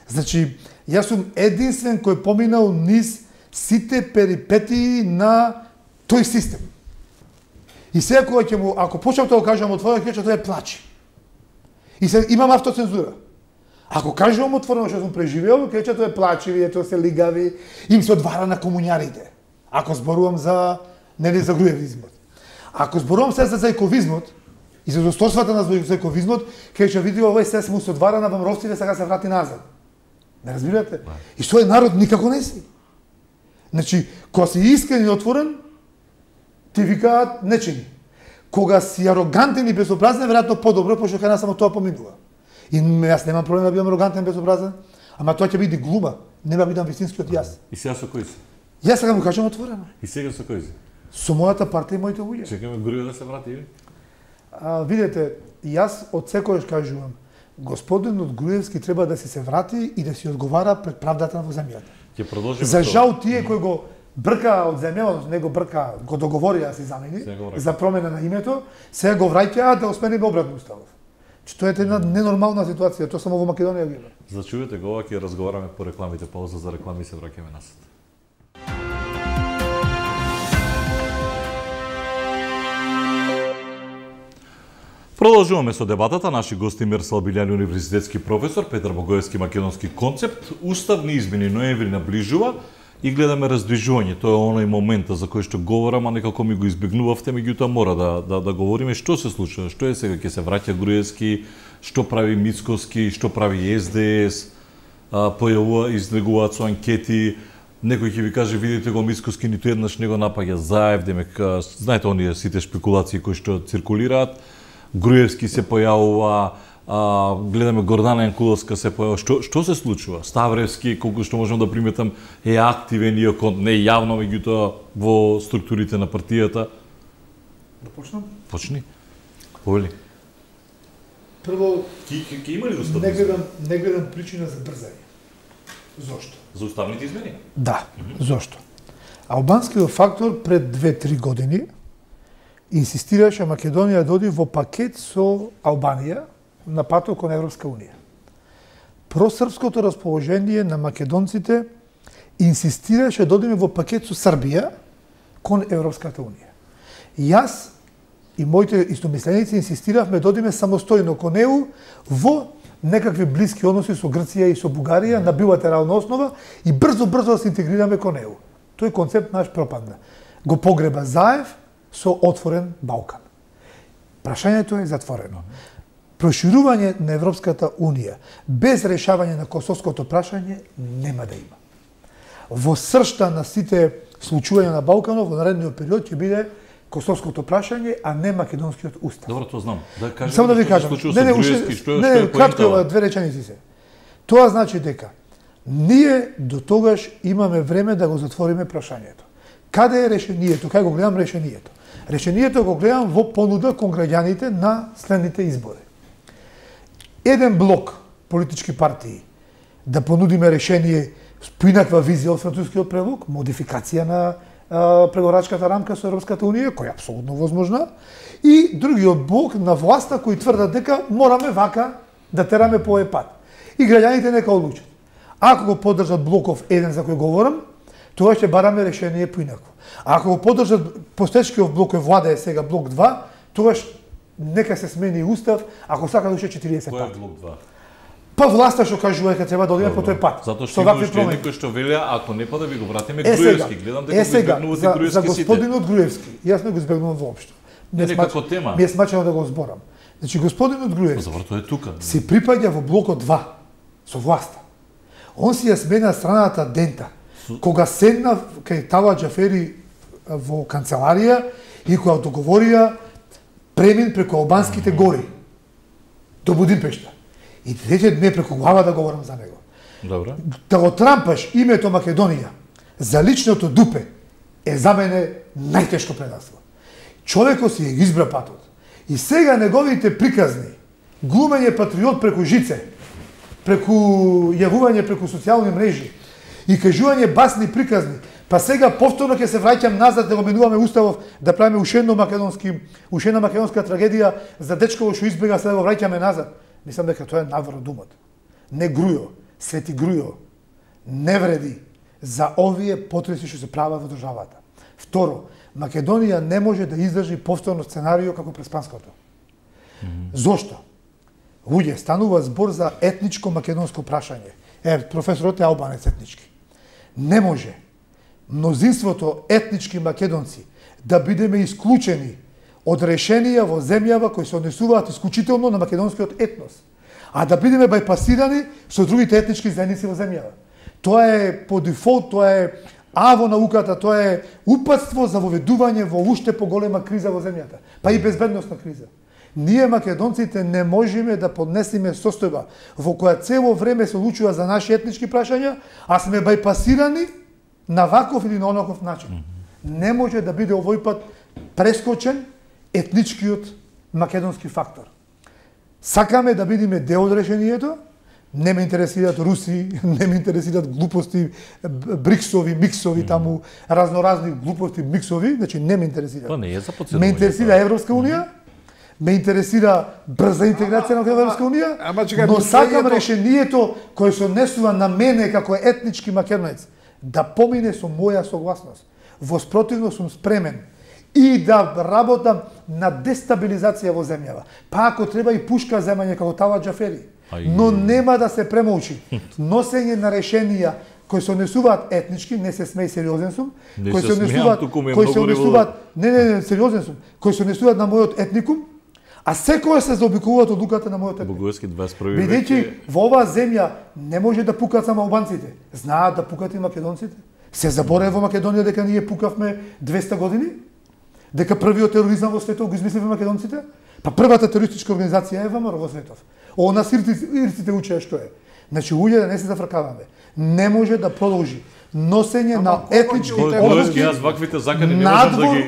Значи, јас сум единствен кој поминал низ сите перипетии на тој систем. И сега кога ќе му, ако почнам да го кажам отворено, ќе тоа е плачи. И се имам автоцензура. Ако кажувам отворено што сум преживеал, ќе тоа е плачи, вие тоа се лигави, им се одвара на комуњарите. Ако зборувам за нели за груевизмот. Ако зборувам се за зајковизмот и за досторствата на зајковизмот, ќе ќе види овој се му се одвара на Вамровците, сега се врати назад. Не разбирате? И тој народ никако не си. Значи, кога си искрен и отворен, ти викаат нечини. Кога си арогантен и безобразен, веројатно подобро, пошто кај нас само тоа поминува. И јас немам проблем да бидам арогантен и безобразен, ама тоа ќе биде глума, нема бидам вистинскиот јас. И сега со кој си? Јас сега му кажам отворено. И сега со кој си? Со мојата партија и моите луѓе. Чекаме Грујо да се врати или? А, видете, јас од секојаш кажувам, господинот Груевски треба да си се врати и да си одговара пред правдата во земјата. Ќе продолжиме. За со- жал тие кои го брка од земја, не го брка, го договорија се замени Сега го враќа. за промена на името, сега го враќаат да осмениме обратно уставот. Че тоа е една ненормална ситуација, тоа само во Македонија го има. Зачувате го, ова ќе разговараме по рекламите, пауза за реклами се враќаме насад. Продолжуваме со дебатата. Наши гости Мирсал Билјани, универзитетски професор, Петар Богоевски, македонски концепт. Уставни измени ноември наближува и гледаме раздвижување. Тоа е оној момента за кој што говорам, а некако ми го избегнувавте, меѓутоа мора да, да, да говориме што се случува, што е сега, ќе се враќа Груевски, што прави Мицкоски, што прави С Д С, а, појавува, излегуваат со анкети, некој ќе ви каже, видите го Мицкоски, ниту еднаш не го напаѓа Заев, демек, а, знаете оние сите шпекулации кои што циркулираат. Груевски се појавува, а, гледаме Гордана Јанкуловска се појавува. Што што се случува? Ставревски, колку што можам да приметам, е активен иако не јавно, меѓутоа во структурите на партијата. Да почнам? Почни. Повели. Прво, Ки ки, ки има ли достатно? не гледам, не гледам причина за брзање. Зошто? За уставните измени? Да, зошто? Албанскиот фактор пред две-три години инсистираше Македонија да оди во пакет со Албанија на патот кон Европска унија. Просрпското расположение на македонците инсистираше да одиме во пакет со Србија кон Европската унија. Јас и моите истомисленици инсистиравме да одиме самостојно кон Е У во некакви блиски односи со Грција и со Бугарија на билатерална основа и брзо-брзо да се интегрираме кон Е У. Тој концепт наш пропадна. Го погреба Заев со отворен Балкан. Прашањето е затворено. Проширување на Европската унија без решавање на косовското прашање нема да има. Во сршта на сите случувања на Балканот во наредниот период ќе биде косовското прашање, а не македонскиот устав. Добро, тоа знам. Да кажем. Само да ви што се кажам. случува Не, со не, Груевски, уште, што не, што е не, кратко поентава? две реченици се. Тоа значи дека ние до тогаш имаме време да го затвориме прашањето. Каде е решението? Кај го гледам решението? Решението го гледам во понуда кон граѓаните на следните избори. Еден блок политички партии да понудиме решение по инаква визија од францускиот прелог, модификација на а, преговорачката рамка со Европската унија, која е апсолутно возможна, и другиот блок на власта кои тврдат дека мораме вака да тераме по овој пат. И граѓаните нека одлучат. Ако го поддржат блоков еден за кој говорам, тоа ќе бараме решение поинакво. А ако го поддржат постечкиот блок кој влада е сега блок два, тогаш нека се смени устав, ако сака да уште четириесет Кој е пати. блок два? Па власта што кажува дека треба да одиме по тој пат. Затоа Со што има вакви уште промени. некој што велеа, ако не па да ви го вратиме Е сега, Груевски. Гледам дека е го сега, избегнувате за, за Груевски сите. господинот Груевски, јас не го избегнувам воопшто. Не, Ми е некако смач- тема. Ми е смачено да го зборам. Значи, господинот Груевски Добро, тоа е тука. се припаѓа во блокот два, со власта. Он си ја смена страната Дента. Кога седна кај Тала Џафери во канцеларија и кога договорија премин преку албанските гори до Будимпешта. И рече не преку глава да говорам за него. Добро. Да го трампаш името Македонија за личното дупе е за мене најтешко предавство. Човекот си ја избра патот. И сега неговите приказни, глумење патриот преку жице, преку јавување преку социјални мрежи и кажување басни приказни, па сега повторно ќе се враќам назад да го менуваме уставов, да правиме уште едно македонски, уште една македонска трагедија за дечко што избега, сега го враќаме назад. Мислам дека тоа е навор од умот. Не Грујо, Свети Грујо, не вреди за овие потреси што се прават во државата. Второ, Македонија не може да издржи повторно сценарио како преспанското. Mm -hmm. Зошто? Луѓе, станува збор за етничко македонско прашање. Е, професорот е албанец етнички. Не може мнозинството етнички македонци да бидеме исклучени од решенија во земјава кои се однесуваат исклучително на македонскиот етнос, а да бидеме бајпасирани со другите етнички заедници во земјава. Тоа е по дефолт, тоа е А во науката, тоа е упатство за воведување во уште поголема криза во земјата, па и безбедносна криза. Ние македонците не можеме да поднесеме состојба во која цело време се одлучува за наши етнички прашања, а сме бајпасирани на ваков или на онаков начин. Не може да биде овој пат прескочен етничкиот македонски фактор. Сакаме да бидеме дел од решението, не ме интересираат руси, не ме интересираат глупости, бриксови, миксови, таму разноразни глупости, миксови, значи не ме интересираат. Тоа не е за подсетување. Ме интересира Европска унија, ме интересира брза интеграција на Европска унија, ама чекај, но сакам последното- решението кое се однесува на мене како етнички македонец да помине со моја согласност. Во спротивно сум спремен и да работам на дестабилизација во земјава. Па ако треба и пушка земање како Тала Џафери. Ај. Но нема да се премолчи. Носење на решенија кои се однесуваат етнички, не се смеј, сериозен сум, Не кои се се смеам, однесуваат, туку ми е кои се многу однесуваат, не, не, не, сериозен сум, кои се однесуваат на мојот етникум, а секој се заобиколуваат од луката на мојот етникум. Богоевски дваесет и први век. Бидејќи е- во оваа земја не може да пукат само албанците, знаат да пукат и македонците. Се заборае во Македонија дека ние пукавме двеста години? Дека првиот тероризам во светот го измисливме македонците? Па првата терористичка организација е ВМРО во светов. Ово нас ирците, ирците учеа што е. Значи, луѓе да не се зафркаваме. Не може да продолжи носење на етнички одлуки. Јас ваквите закани не можам да ги...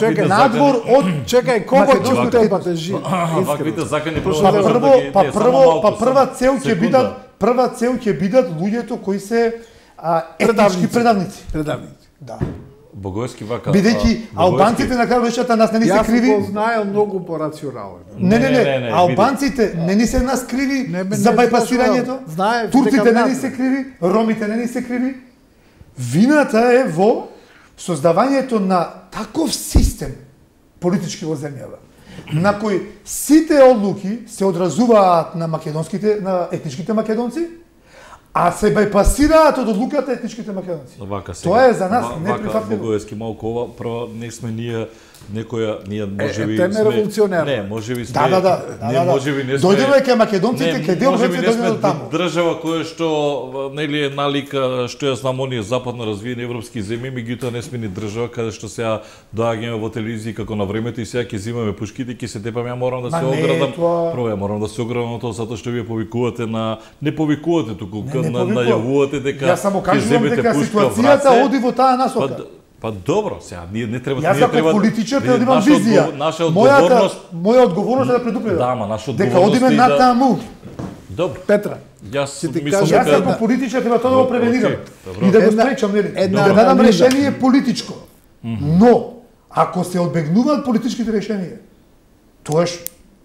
Чекај, надвор од... Чекај, кого ќе утребате жив? Ваквите закани па прво, па прво, па прва цел ќе бидат, прва цел ќе бидат луѓето кои се етнички предавници. Предавници. Да. Богојски вака. Бидејќи албанците на крај вечерта нас не ни се криви. Јас го знаел многу порационален. Не, не, не, албанците не ни се нас криви за бајпасирањето. Турците не ни се криви, ромите не ни се криви. Вината е во создавањето на таков систем политички во земјава, на кој сите одлуки се одразуваат на македонските, на етничките македонци, а се бајпасираат од одлуката етничките македонци. Вака Тоа е за нас неприфатливо. Богојски малку ова, прво не сме ние некоја ние можеби е, сме револуционер. Не, можеби сме. Да, да, да. Не, да, да. можеби не сме. Дојдено е кај македонците, кај дел вече дојдено до таму. Држава која што нели е налика што ја знам оние западно развиени европски земји, меѓутоа не сме ни држава каде што сега доаѓаме во телевизија како на времето и сега ќе земаме пушките, ќе се тепаме, ја морам да се оградам. Това... Прво ја морам да се оградам тоа затоа што вие повикувате на не повикувате туку на најавувате дека ја само кажувам дека ситуацијата оди во таа насока. Па, па добро, сега ние не треба Јас ние треба политичар треба да имам визија. Наша одговорност, моја одговорност е да предупредам. Да, ма наша дека одговорност одиме на таму. Добро. Петра, Јас кажа, мислам Јас дека како политичар треба тоа да го превенирам. Okay, И да го Една- спречам, нели? една Да дадам анализа. решение политичко. Но ако се одбегнуваат политичките решенија, тоаш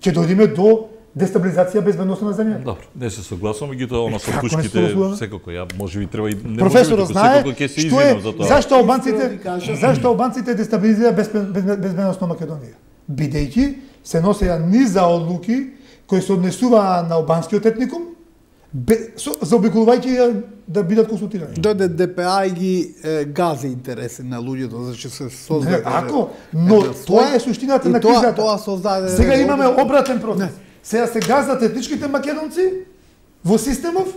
ќе дојдеме до дестабилизација безбедноста на земјата. добро, не се согласувам, меѓутоа она со Како не се пушките согласуваме? секако ја можеби треба и не Професорот можеби, туку знае секако ќе се што е извинам за тоа. зашто албанците Искрено ви кажам. зашто албанците дестабилизира безбед- безбед- безбедност на Македонија. Бидејќи се носеа низа одлуки кои се однесуваа на албанскиот етникум, бе- со- заобиколувајќи ја да бидат консултирани. дојде ДПА и ги е, гази интереси на луѓето, значи се Не, создаде. ако, но еден слој, тоа е суштината и на тоа- кризата. Тоа создаде. Сега имаме обратен процес. Не. Сега се газат етничките македонци во системов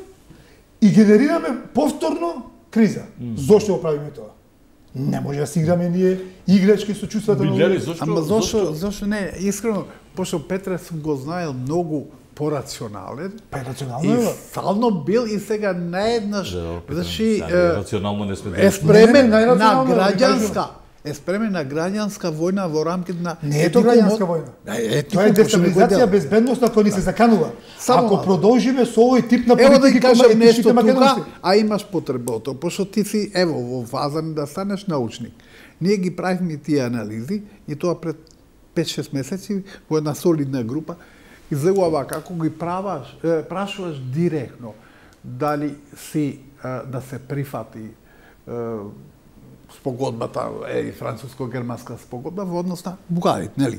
и генерираме повторно криза. Зошто го правиме тоа? Не може да си играме ние играчки со чувствата на Билјари, луѓето. зошто? Ама зошто, зошто не, искрено, пошто Петре сум го знаел многу порационален. Па е И рационално е. стално бил и сега наеднаш, значи, е, рационално не сме е спремен Не, не, на најрационално, граѓанска, е спремен на граѓанска војна во рамките на... Не е тоа граѓанска војна. Е, Тоа е дестабилизација безбедност на која ни се заканува. Само Ако малку. продолжиме со овој тип на Ево да политики ти кажам кои нешто етничките македонци. тука, а имаш потреба од тоа, пошто ти си, ево, во фаза да станеш научник. Ние ги правихме тие анализи и тоа пред пет-шест месеци во една солидна група излегува вака, ако ги праваш, е, прашуваш директно дали си е, да се прифати е, спогодбата, е, француско-германска спогодба во однос на Бугарите, нели?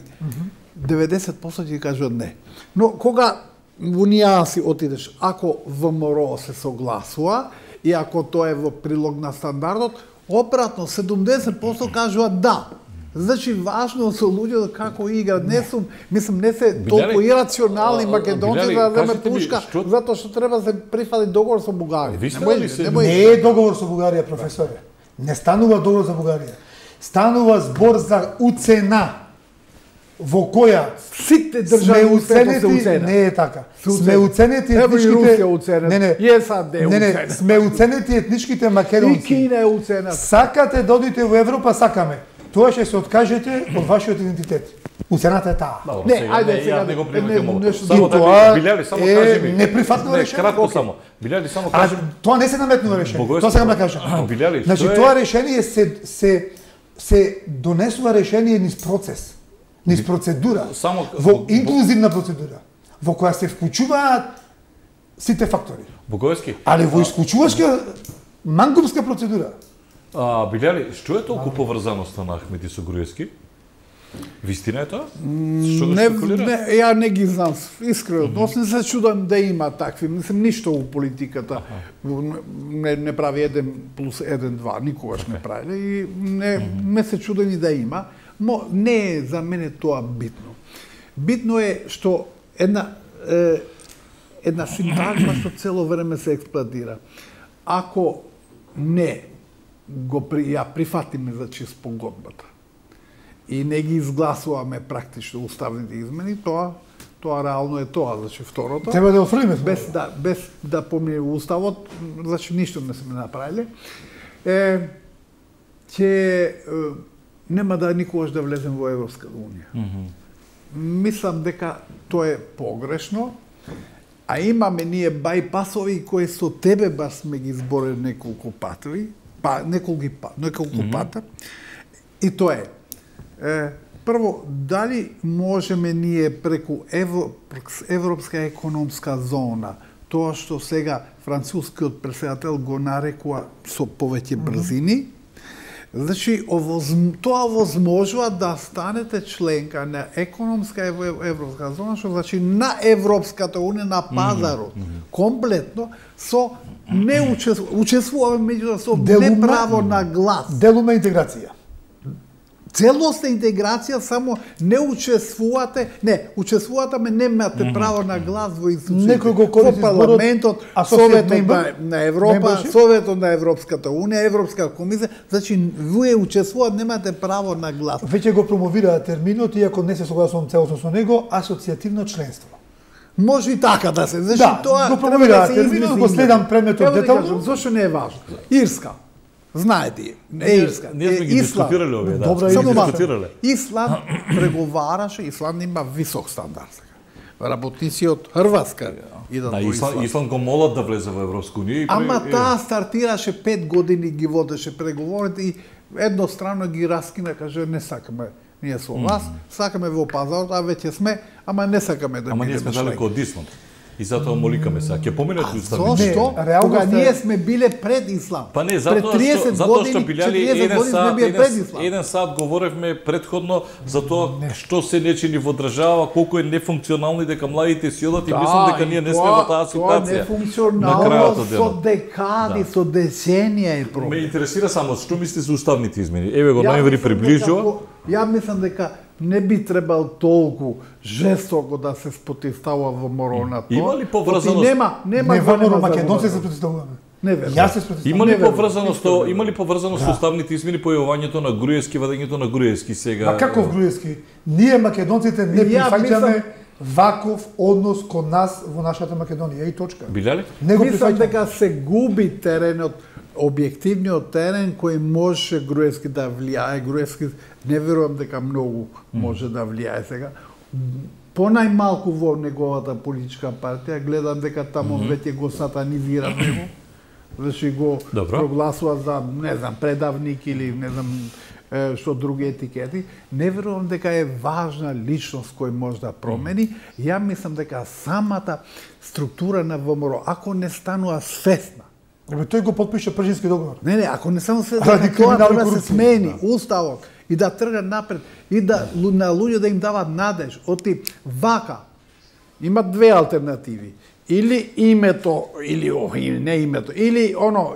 деветдесет проценти ќе кажуваат не. Но кога во нијанси отидеш, ако ВМРО се согласува и ако тоа е во прилог на стандардот, обратно седумдесет проценти кажуваат да. Значи важно со луѓето како играат. Не сум, мислам не се толку ирационални македонци Билјари, да земат кажете ми, пушка, што- затоа што треба да се прифати договор со Бугарија. Ви сте Немој- ли се- немој- Не е договор со Бугарија, професоре. Не станува договор за Бугарија. Станува збор за уцена во која Сите сме држави се уценети, уцена. не е така. Се Сме уценети. уценети Ево и етничките... Русија уценета. Не, не. И САД е Не, не, уценета. сме уценети етничките И македонци. Кина е уцена. Сакате да одите во Европа, сакаме. Тоа ќе се откажете од вашиот идентитет. Уцената е таа. Добро, Не, сега, ајде не, сега, ја не го не, прифаќам ово. нешто Само друго. да И тоа ви- Билјари, само е кажи ми. неприфатливо Не, решение. кратко Окей. само. Билјари, само А кажи. тоа не се наметнува решение. Богојски, Тоа сакам да кажам. Билјари, Значи што е- тоа решение се се се донесува решение низ процес, низ процедура, Само- во инклузивна процедура, во која се вклучуваат сите фактори. Богојски, Али во исклучувачка мангупска процедура. а, Билјари, што е толку поврзаноста на Ахмети со Груевски? Вистина е тоа? Што го Не, спекулира? не, ја не ги знам, искрено. Mm -hmm. Не се чудам да има такви, мислам ништо у политиката. Не, не прави еден плюс еден два, никогаш не прави. И не, mm -hmm. не се чудам и да има, но не е за мене тоа битно. Битно е што една е, една синтагма што цело време се експлоатира. Ако не го при, ја прифатиме значи спогодбата и не ги изгласуваме практично уставните измени, тоа тоа реално е тоа, значи второто. Треба да офрлиме без да без да помине уставот, значи ништо не сме направиле. Е че нема да никогаш да влезем во Европска унија. Mm -hmm. Мислам дека тоа е погрешно, а имаме ние бајпасови кои со тебе баш сме ги зборили неколку патови, па неколку па, неколку mm -hmm. пата. И тоа е. е прво, дали можеме ние преку Евро, Европска економска зона, тоа што сега францускиот претседател го нарекува со повеќе брзини, mm -hmm. Значи, тоа возможува да станете членка на економска европска зона, што значи на Европската унија, на пазарот, mm -hmm. комплетно, со не учествуваме меѓу со не право на глас. Делума интеграција. Целосна интеграција, само не учествувате, не, учествувате, ме немате mm -hmm. право на глас во институциите, во парламентот, Советот на, на Европа, Советот на Европската унија, Европска комисија, значи вие учествувате, немате право на глас. Веќе го промовира терминот, иако не се согласувам целосно со него, асоцијативно членство. Може и така да се, значи да, тоа го промовира да терминот, го следам предметот детално. Зошто не е важно? Ирска. Знаете, не е Ирска. Ние сме ги дискутирале овие, да. Добра, сме ги дискутирале. Исланд преговараше, Исланд има висок стандард. Работници од Хрватска идат да, во Исланд. Исланд го молат да влезе во Европска унија. Ама таа стартираше пет години, ги водеше преговорите и едностранно ги раскина, каже не сакаме ние со вас, сакаме во пазарот, а веќе сме, ама не сакаме да ама ние сме далеко од Исланд. И затоа моликаме сега. Ќе поминат уставите. Зошто? Кога ние сме биле пред Ислам. Па не, затоа што затоа што билјали еден сат, еден сат говоревме претходно за тоа што се не чини во држава, колку е нефункционално и дека младите си одат и мислам дека ние не сме во таа ситуација. Тоа нефункционално со декади, со деценија е проблем. Ме интересира само што мислите за уставните измени. Еве го највери приближува. Ја мислам дека не би требал толку жестоко да се спротивстава ВМРО на тоа. Има ли поврзаност? Нема, нема не ВМРО македонци се спротивставуваме. Не верувам. Јас се спротивставувам. Има ли поврзаност со има ли поврзаност со уставните измени, појавувањето на Груевски, вадењето на Груевски сега? Ма каков Груевски? Ние македонците не прифаќаме ваков однос кон нас во нашата Македонија и точка. Биле ли? Не го мислам прифаќаме. дека се губи теренот, објективниот терен кој може Груевски да влијае. Груевски не верувам дека многу може да влијае сега. Понајмалку во неговата политичка партија, гледам дека таму mm -hmm. веќе го сатанизира него. Значи го Добро. прогласува за, не знам, предавник или не знам што други етикети. Не верувам дека е важна личност кој може да промени. Mm -hmm. Ја мислам дека самата структура на ВМРО, ако не станува свесна, Абе тој го потпиша Пржински договор. Не, не, ако не само свесна, дека тоа треба да се смени уставот и да тргне напред и да на луѓе да им дават надеж, оти вака има две алтернативи. Или името, или не името, или оно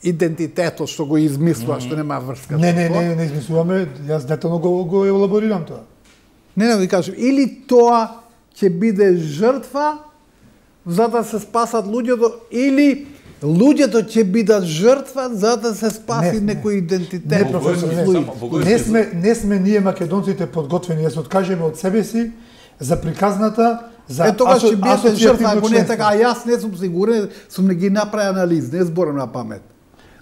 идентитетот што го измислува, што нема врска. Не, не, не, не измислуваме, јас детално го, го елаборирам тоа. Не, не, ви кажам, или тоа ќе биде жртва за да се спасат луѓето, или луѓето ќе бидат жртва за да се спаси не, некој идентитет. Не, професор, не. Не сме, не сме ние македонците подготвени да се откажеме од себе си за приказната, за е, тогаш ќе биете жртва, ако не е така, а јас не сум сигурен, сум не ги направи анализ, не зборам на памет.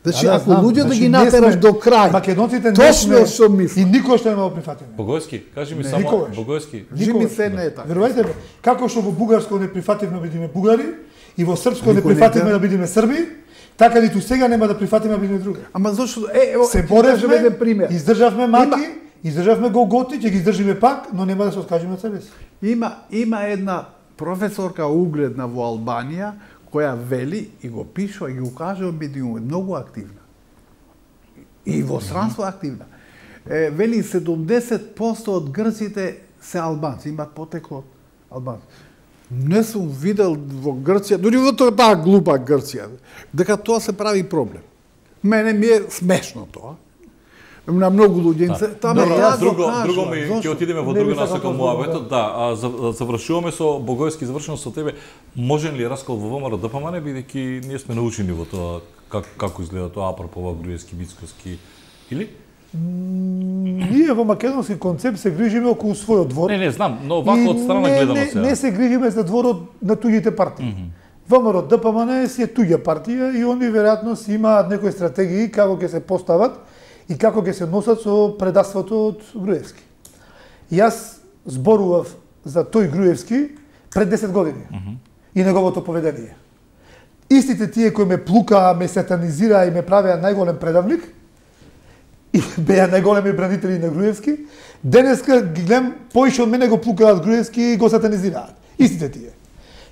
Значи, да, ако луѓето значи, ги натераш до крај, македонците не сме што мислам. И никој што нема прифатиме. Богојски, кажи ми не, само, никогаш. Богојски. Жими се не е така. Верувајте ме, како што во бугарско не прифативме да бидеме бугари, и во српско не прифативме да бидеме срби, така ниту сега нема да прифатиме да бидеме други. Ама зошто е, ево, се боревме, издржавме маки, издржавме голготи, ќе ги издржиме пак, но нема да се откажеме од себе си. Има има една професорка угледна во Албанија која вели и го пишува и го кажува медиуми, многу активна. И во странство активна. Е, вели седумдесет проценти од грците се албанци, имаат потекло од албанци. Не сум видел во Грција, дури во таа глупа Грција, дека тоа се прави проблем. Мене ми е смешно тоа. На многу луѓе да. Таа Добро, да, друго, кажува, друго ми ќе отидеме во друга насока муабетот. Да, а завршуваме со Богојски, завршуваме со тебе. Можен ли раскол во ВМРО да помане бидејќи ние сме научени во тоа как, како изгледа тоа апропо Груевски, Мицкоски или? ние во македонски концепт се грижиме околу својот двор. Не, не знам, но вака од страна не, гледано не, сега. не се грижиме за дворот на туѓите партии. Mm -hmm. ВМРО ДПМН си е туѓа партија и они веројатно си имаат некои стратегии како ќе се постават и како ќе се носат со предавството од Груевски. Јас зборував за тој Груевски пред десет години mm -hmm. и неговото поведение. Истите тие кои ме плукаа, ме сатанизираа и ме правеа најголем предавник и беа најголеми бранители на Груевски, денеска ги гледам поише од мене го плукаат Груевски и го сатанизираат. Истите тие.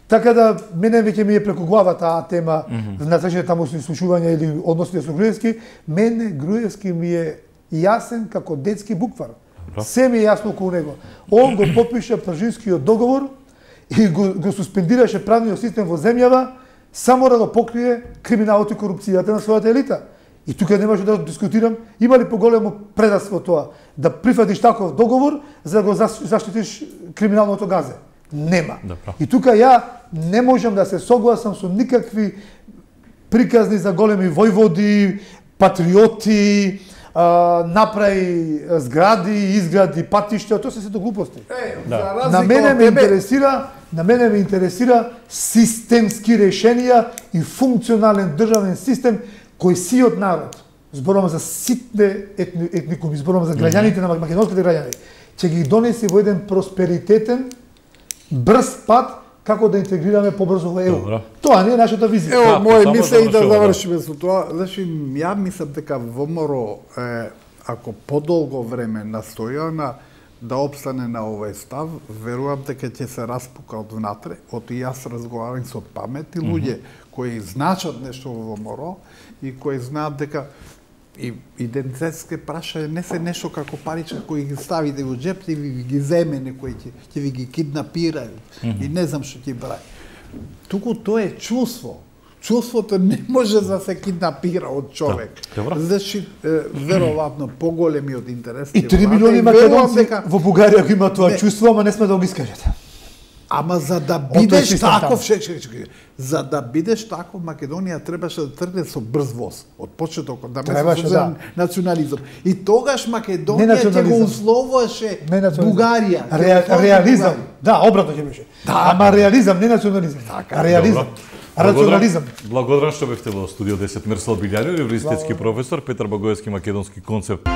Така да мене веќе ми е преку глава таа тема mm -hmm. на следните тамошни слушувања или односите со Груевски, мене Груевски ми е јасен како детски буквар. Добро. Се ми е јасно околу него. Он го подпиша Пржинскиот договор и го, го суспендираше правниот систем во земјава само да го покрие криминалот и корупцијата на својата елита. И тука не може да дискутирам, има ли поголемо предавство тоа, да прифатиш таков договор за да го заштитиш криминалното газе? Нема. Добро. И тука ја не можам да се согласам со никакви приказни за големи војводи, патриоти, а, направи згради, изгради, патишта, тоа се сето глупости. Е, да. На мене ме интересира, на мене ме интересира системски решенија и функционален државен систем кој сиот народ, зборувам за ситне етни, етникуми, зборувам за граѓаните mm -hmm. на македонските граѓани, ќе ги донеси во еден просперитетен, брз пат како да интегрираме побрзо во ЕУ. Добро. Тоа не е нашата визија. Ево, мој мисле и да завршиме со тоа. Значи, ја мислам дека ВМРО е, ако подолго време настоја на да опстане на овој став, верувам дека ќе се распука од внатре. Од и јас разговарам со паметни луѓе mm -hmm. кои значат нешто во ВМРО и кои знаат дека и идентитетске прашања не се нешто како паричка кои ги ставите во джеп и ви ги земе некој ќе ќе ви ги киднапира mm -hmm. и не знам што ќе прави. Туку тоа е чувство. Чувството не може да се киднапира од човек. Да, значи, веројатно поголемиот интерес и три милиони македонци дека... во Бугарија го има тоа не. Чувство, ама не сме да го искажат. Ама за да бидеш таков, ше, ше, ше, за да бидеш таков, Македонија требаше да тргне со брз воз од почетокот, да требаше да национализам. И тогаш Македонија ќе го условуваше Бугарија. Ре, реализам. Бугарија. Да, обратно ќе беше. Да. Ама реализам, не национализам. Така, реализам. Рационализам. Благодарам што бевте во студио десет. Мирслав Билјаниот, универзитетски професор, Петар Багоевски, македонски концепт.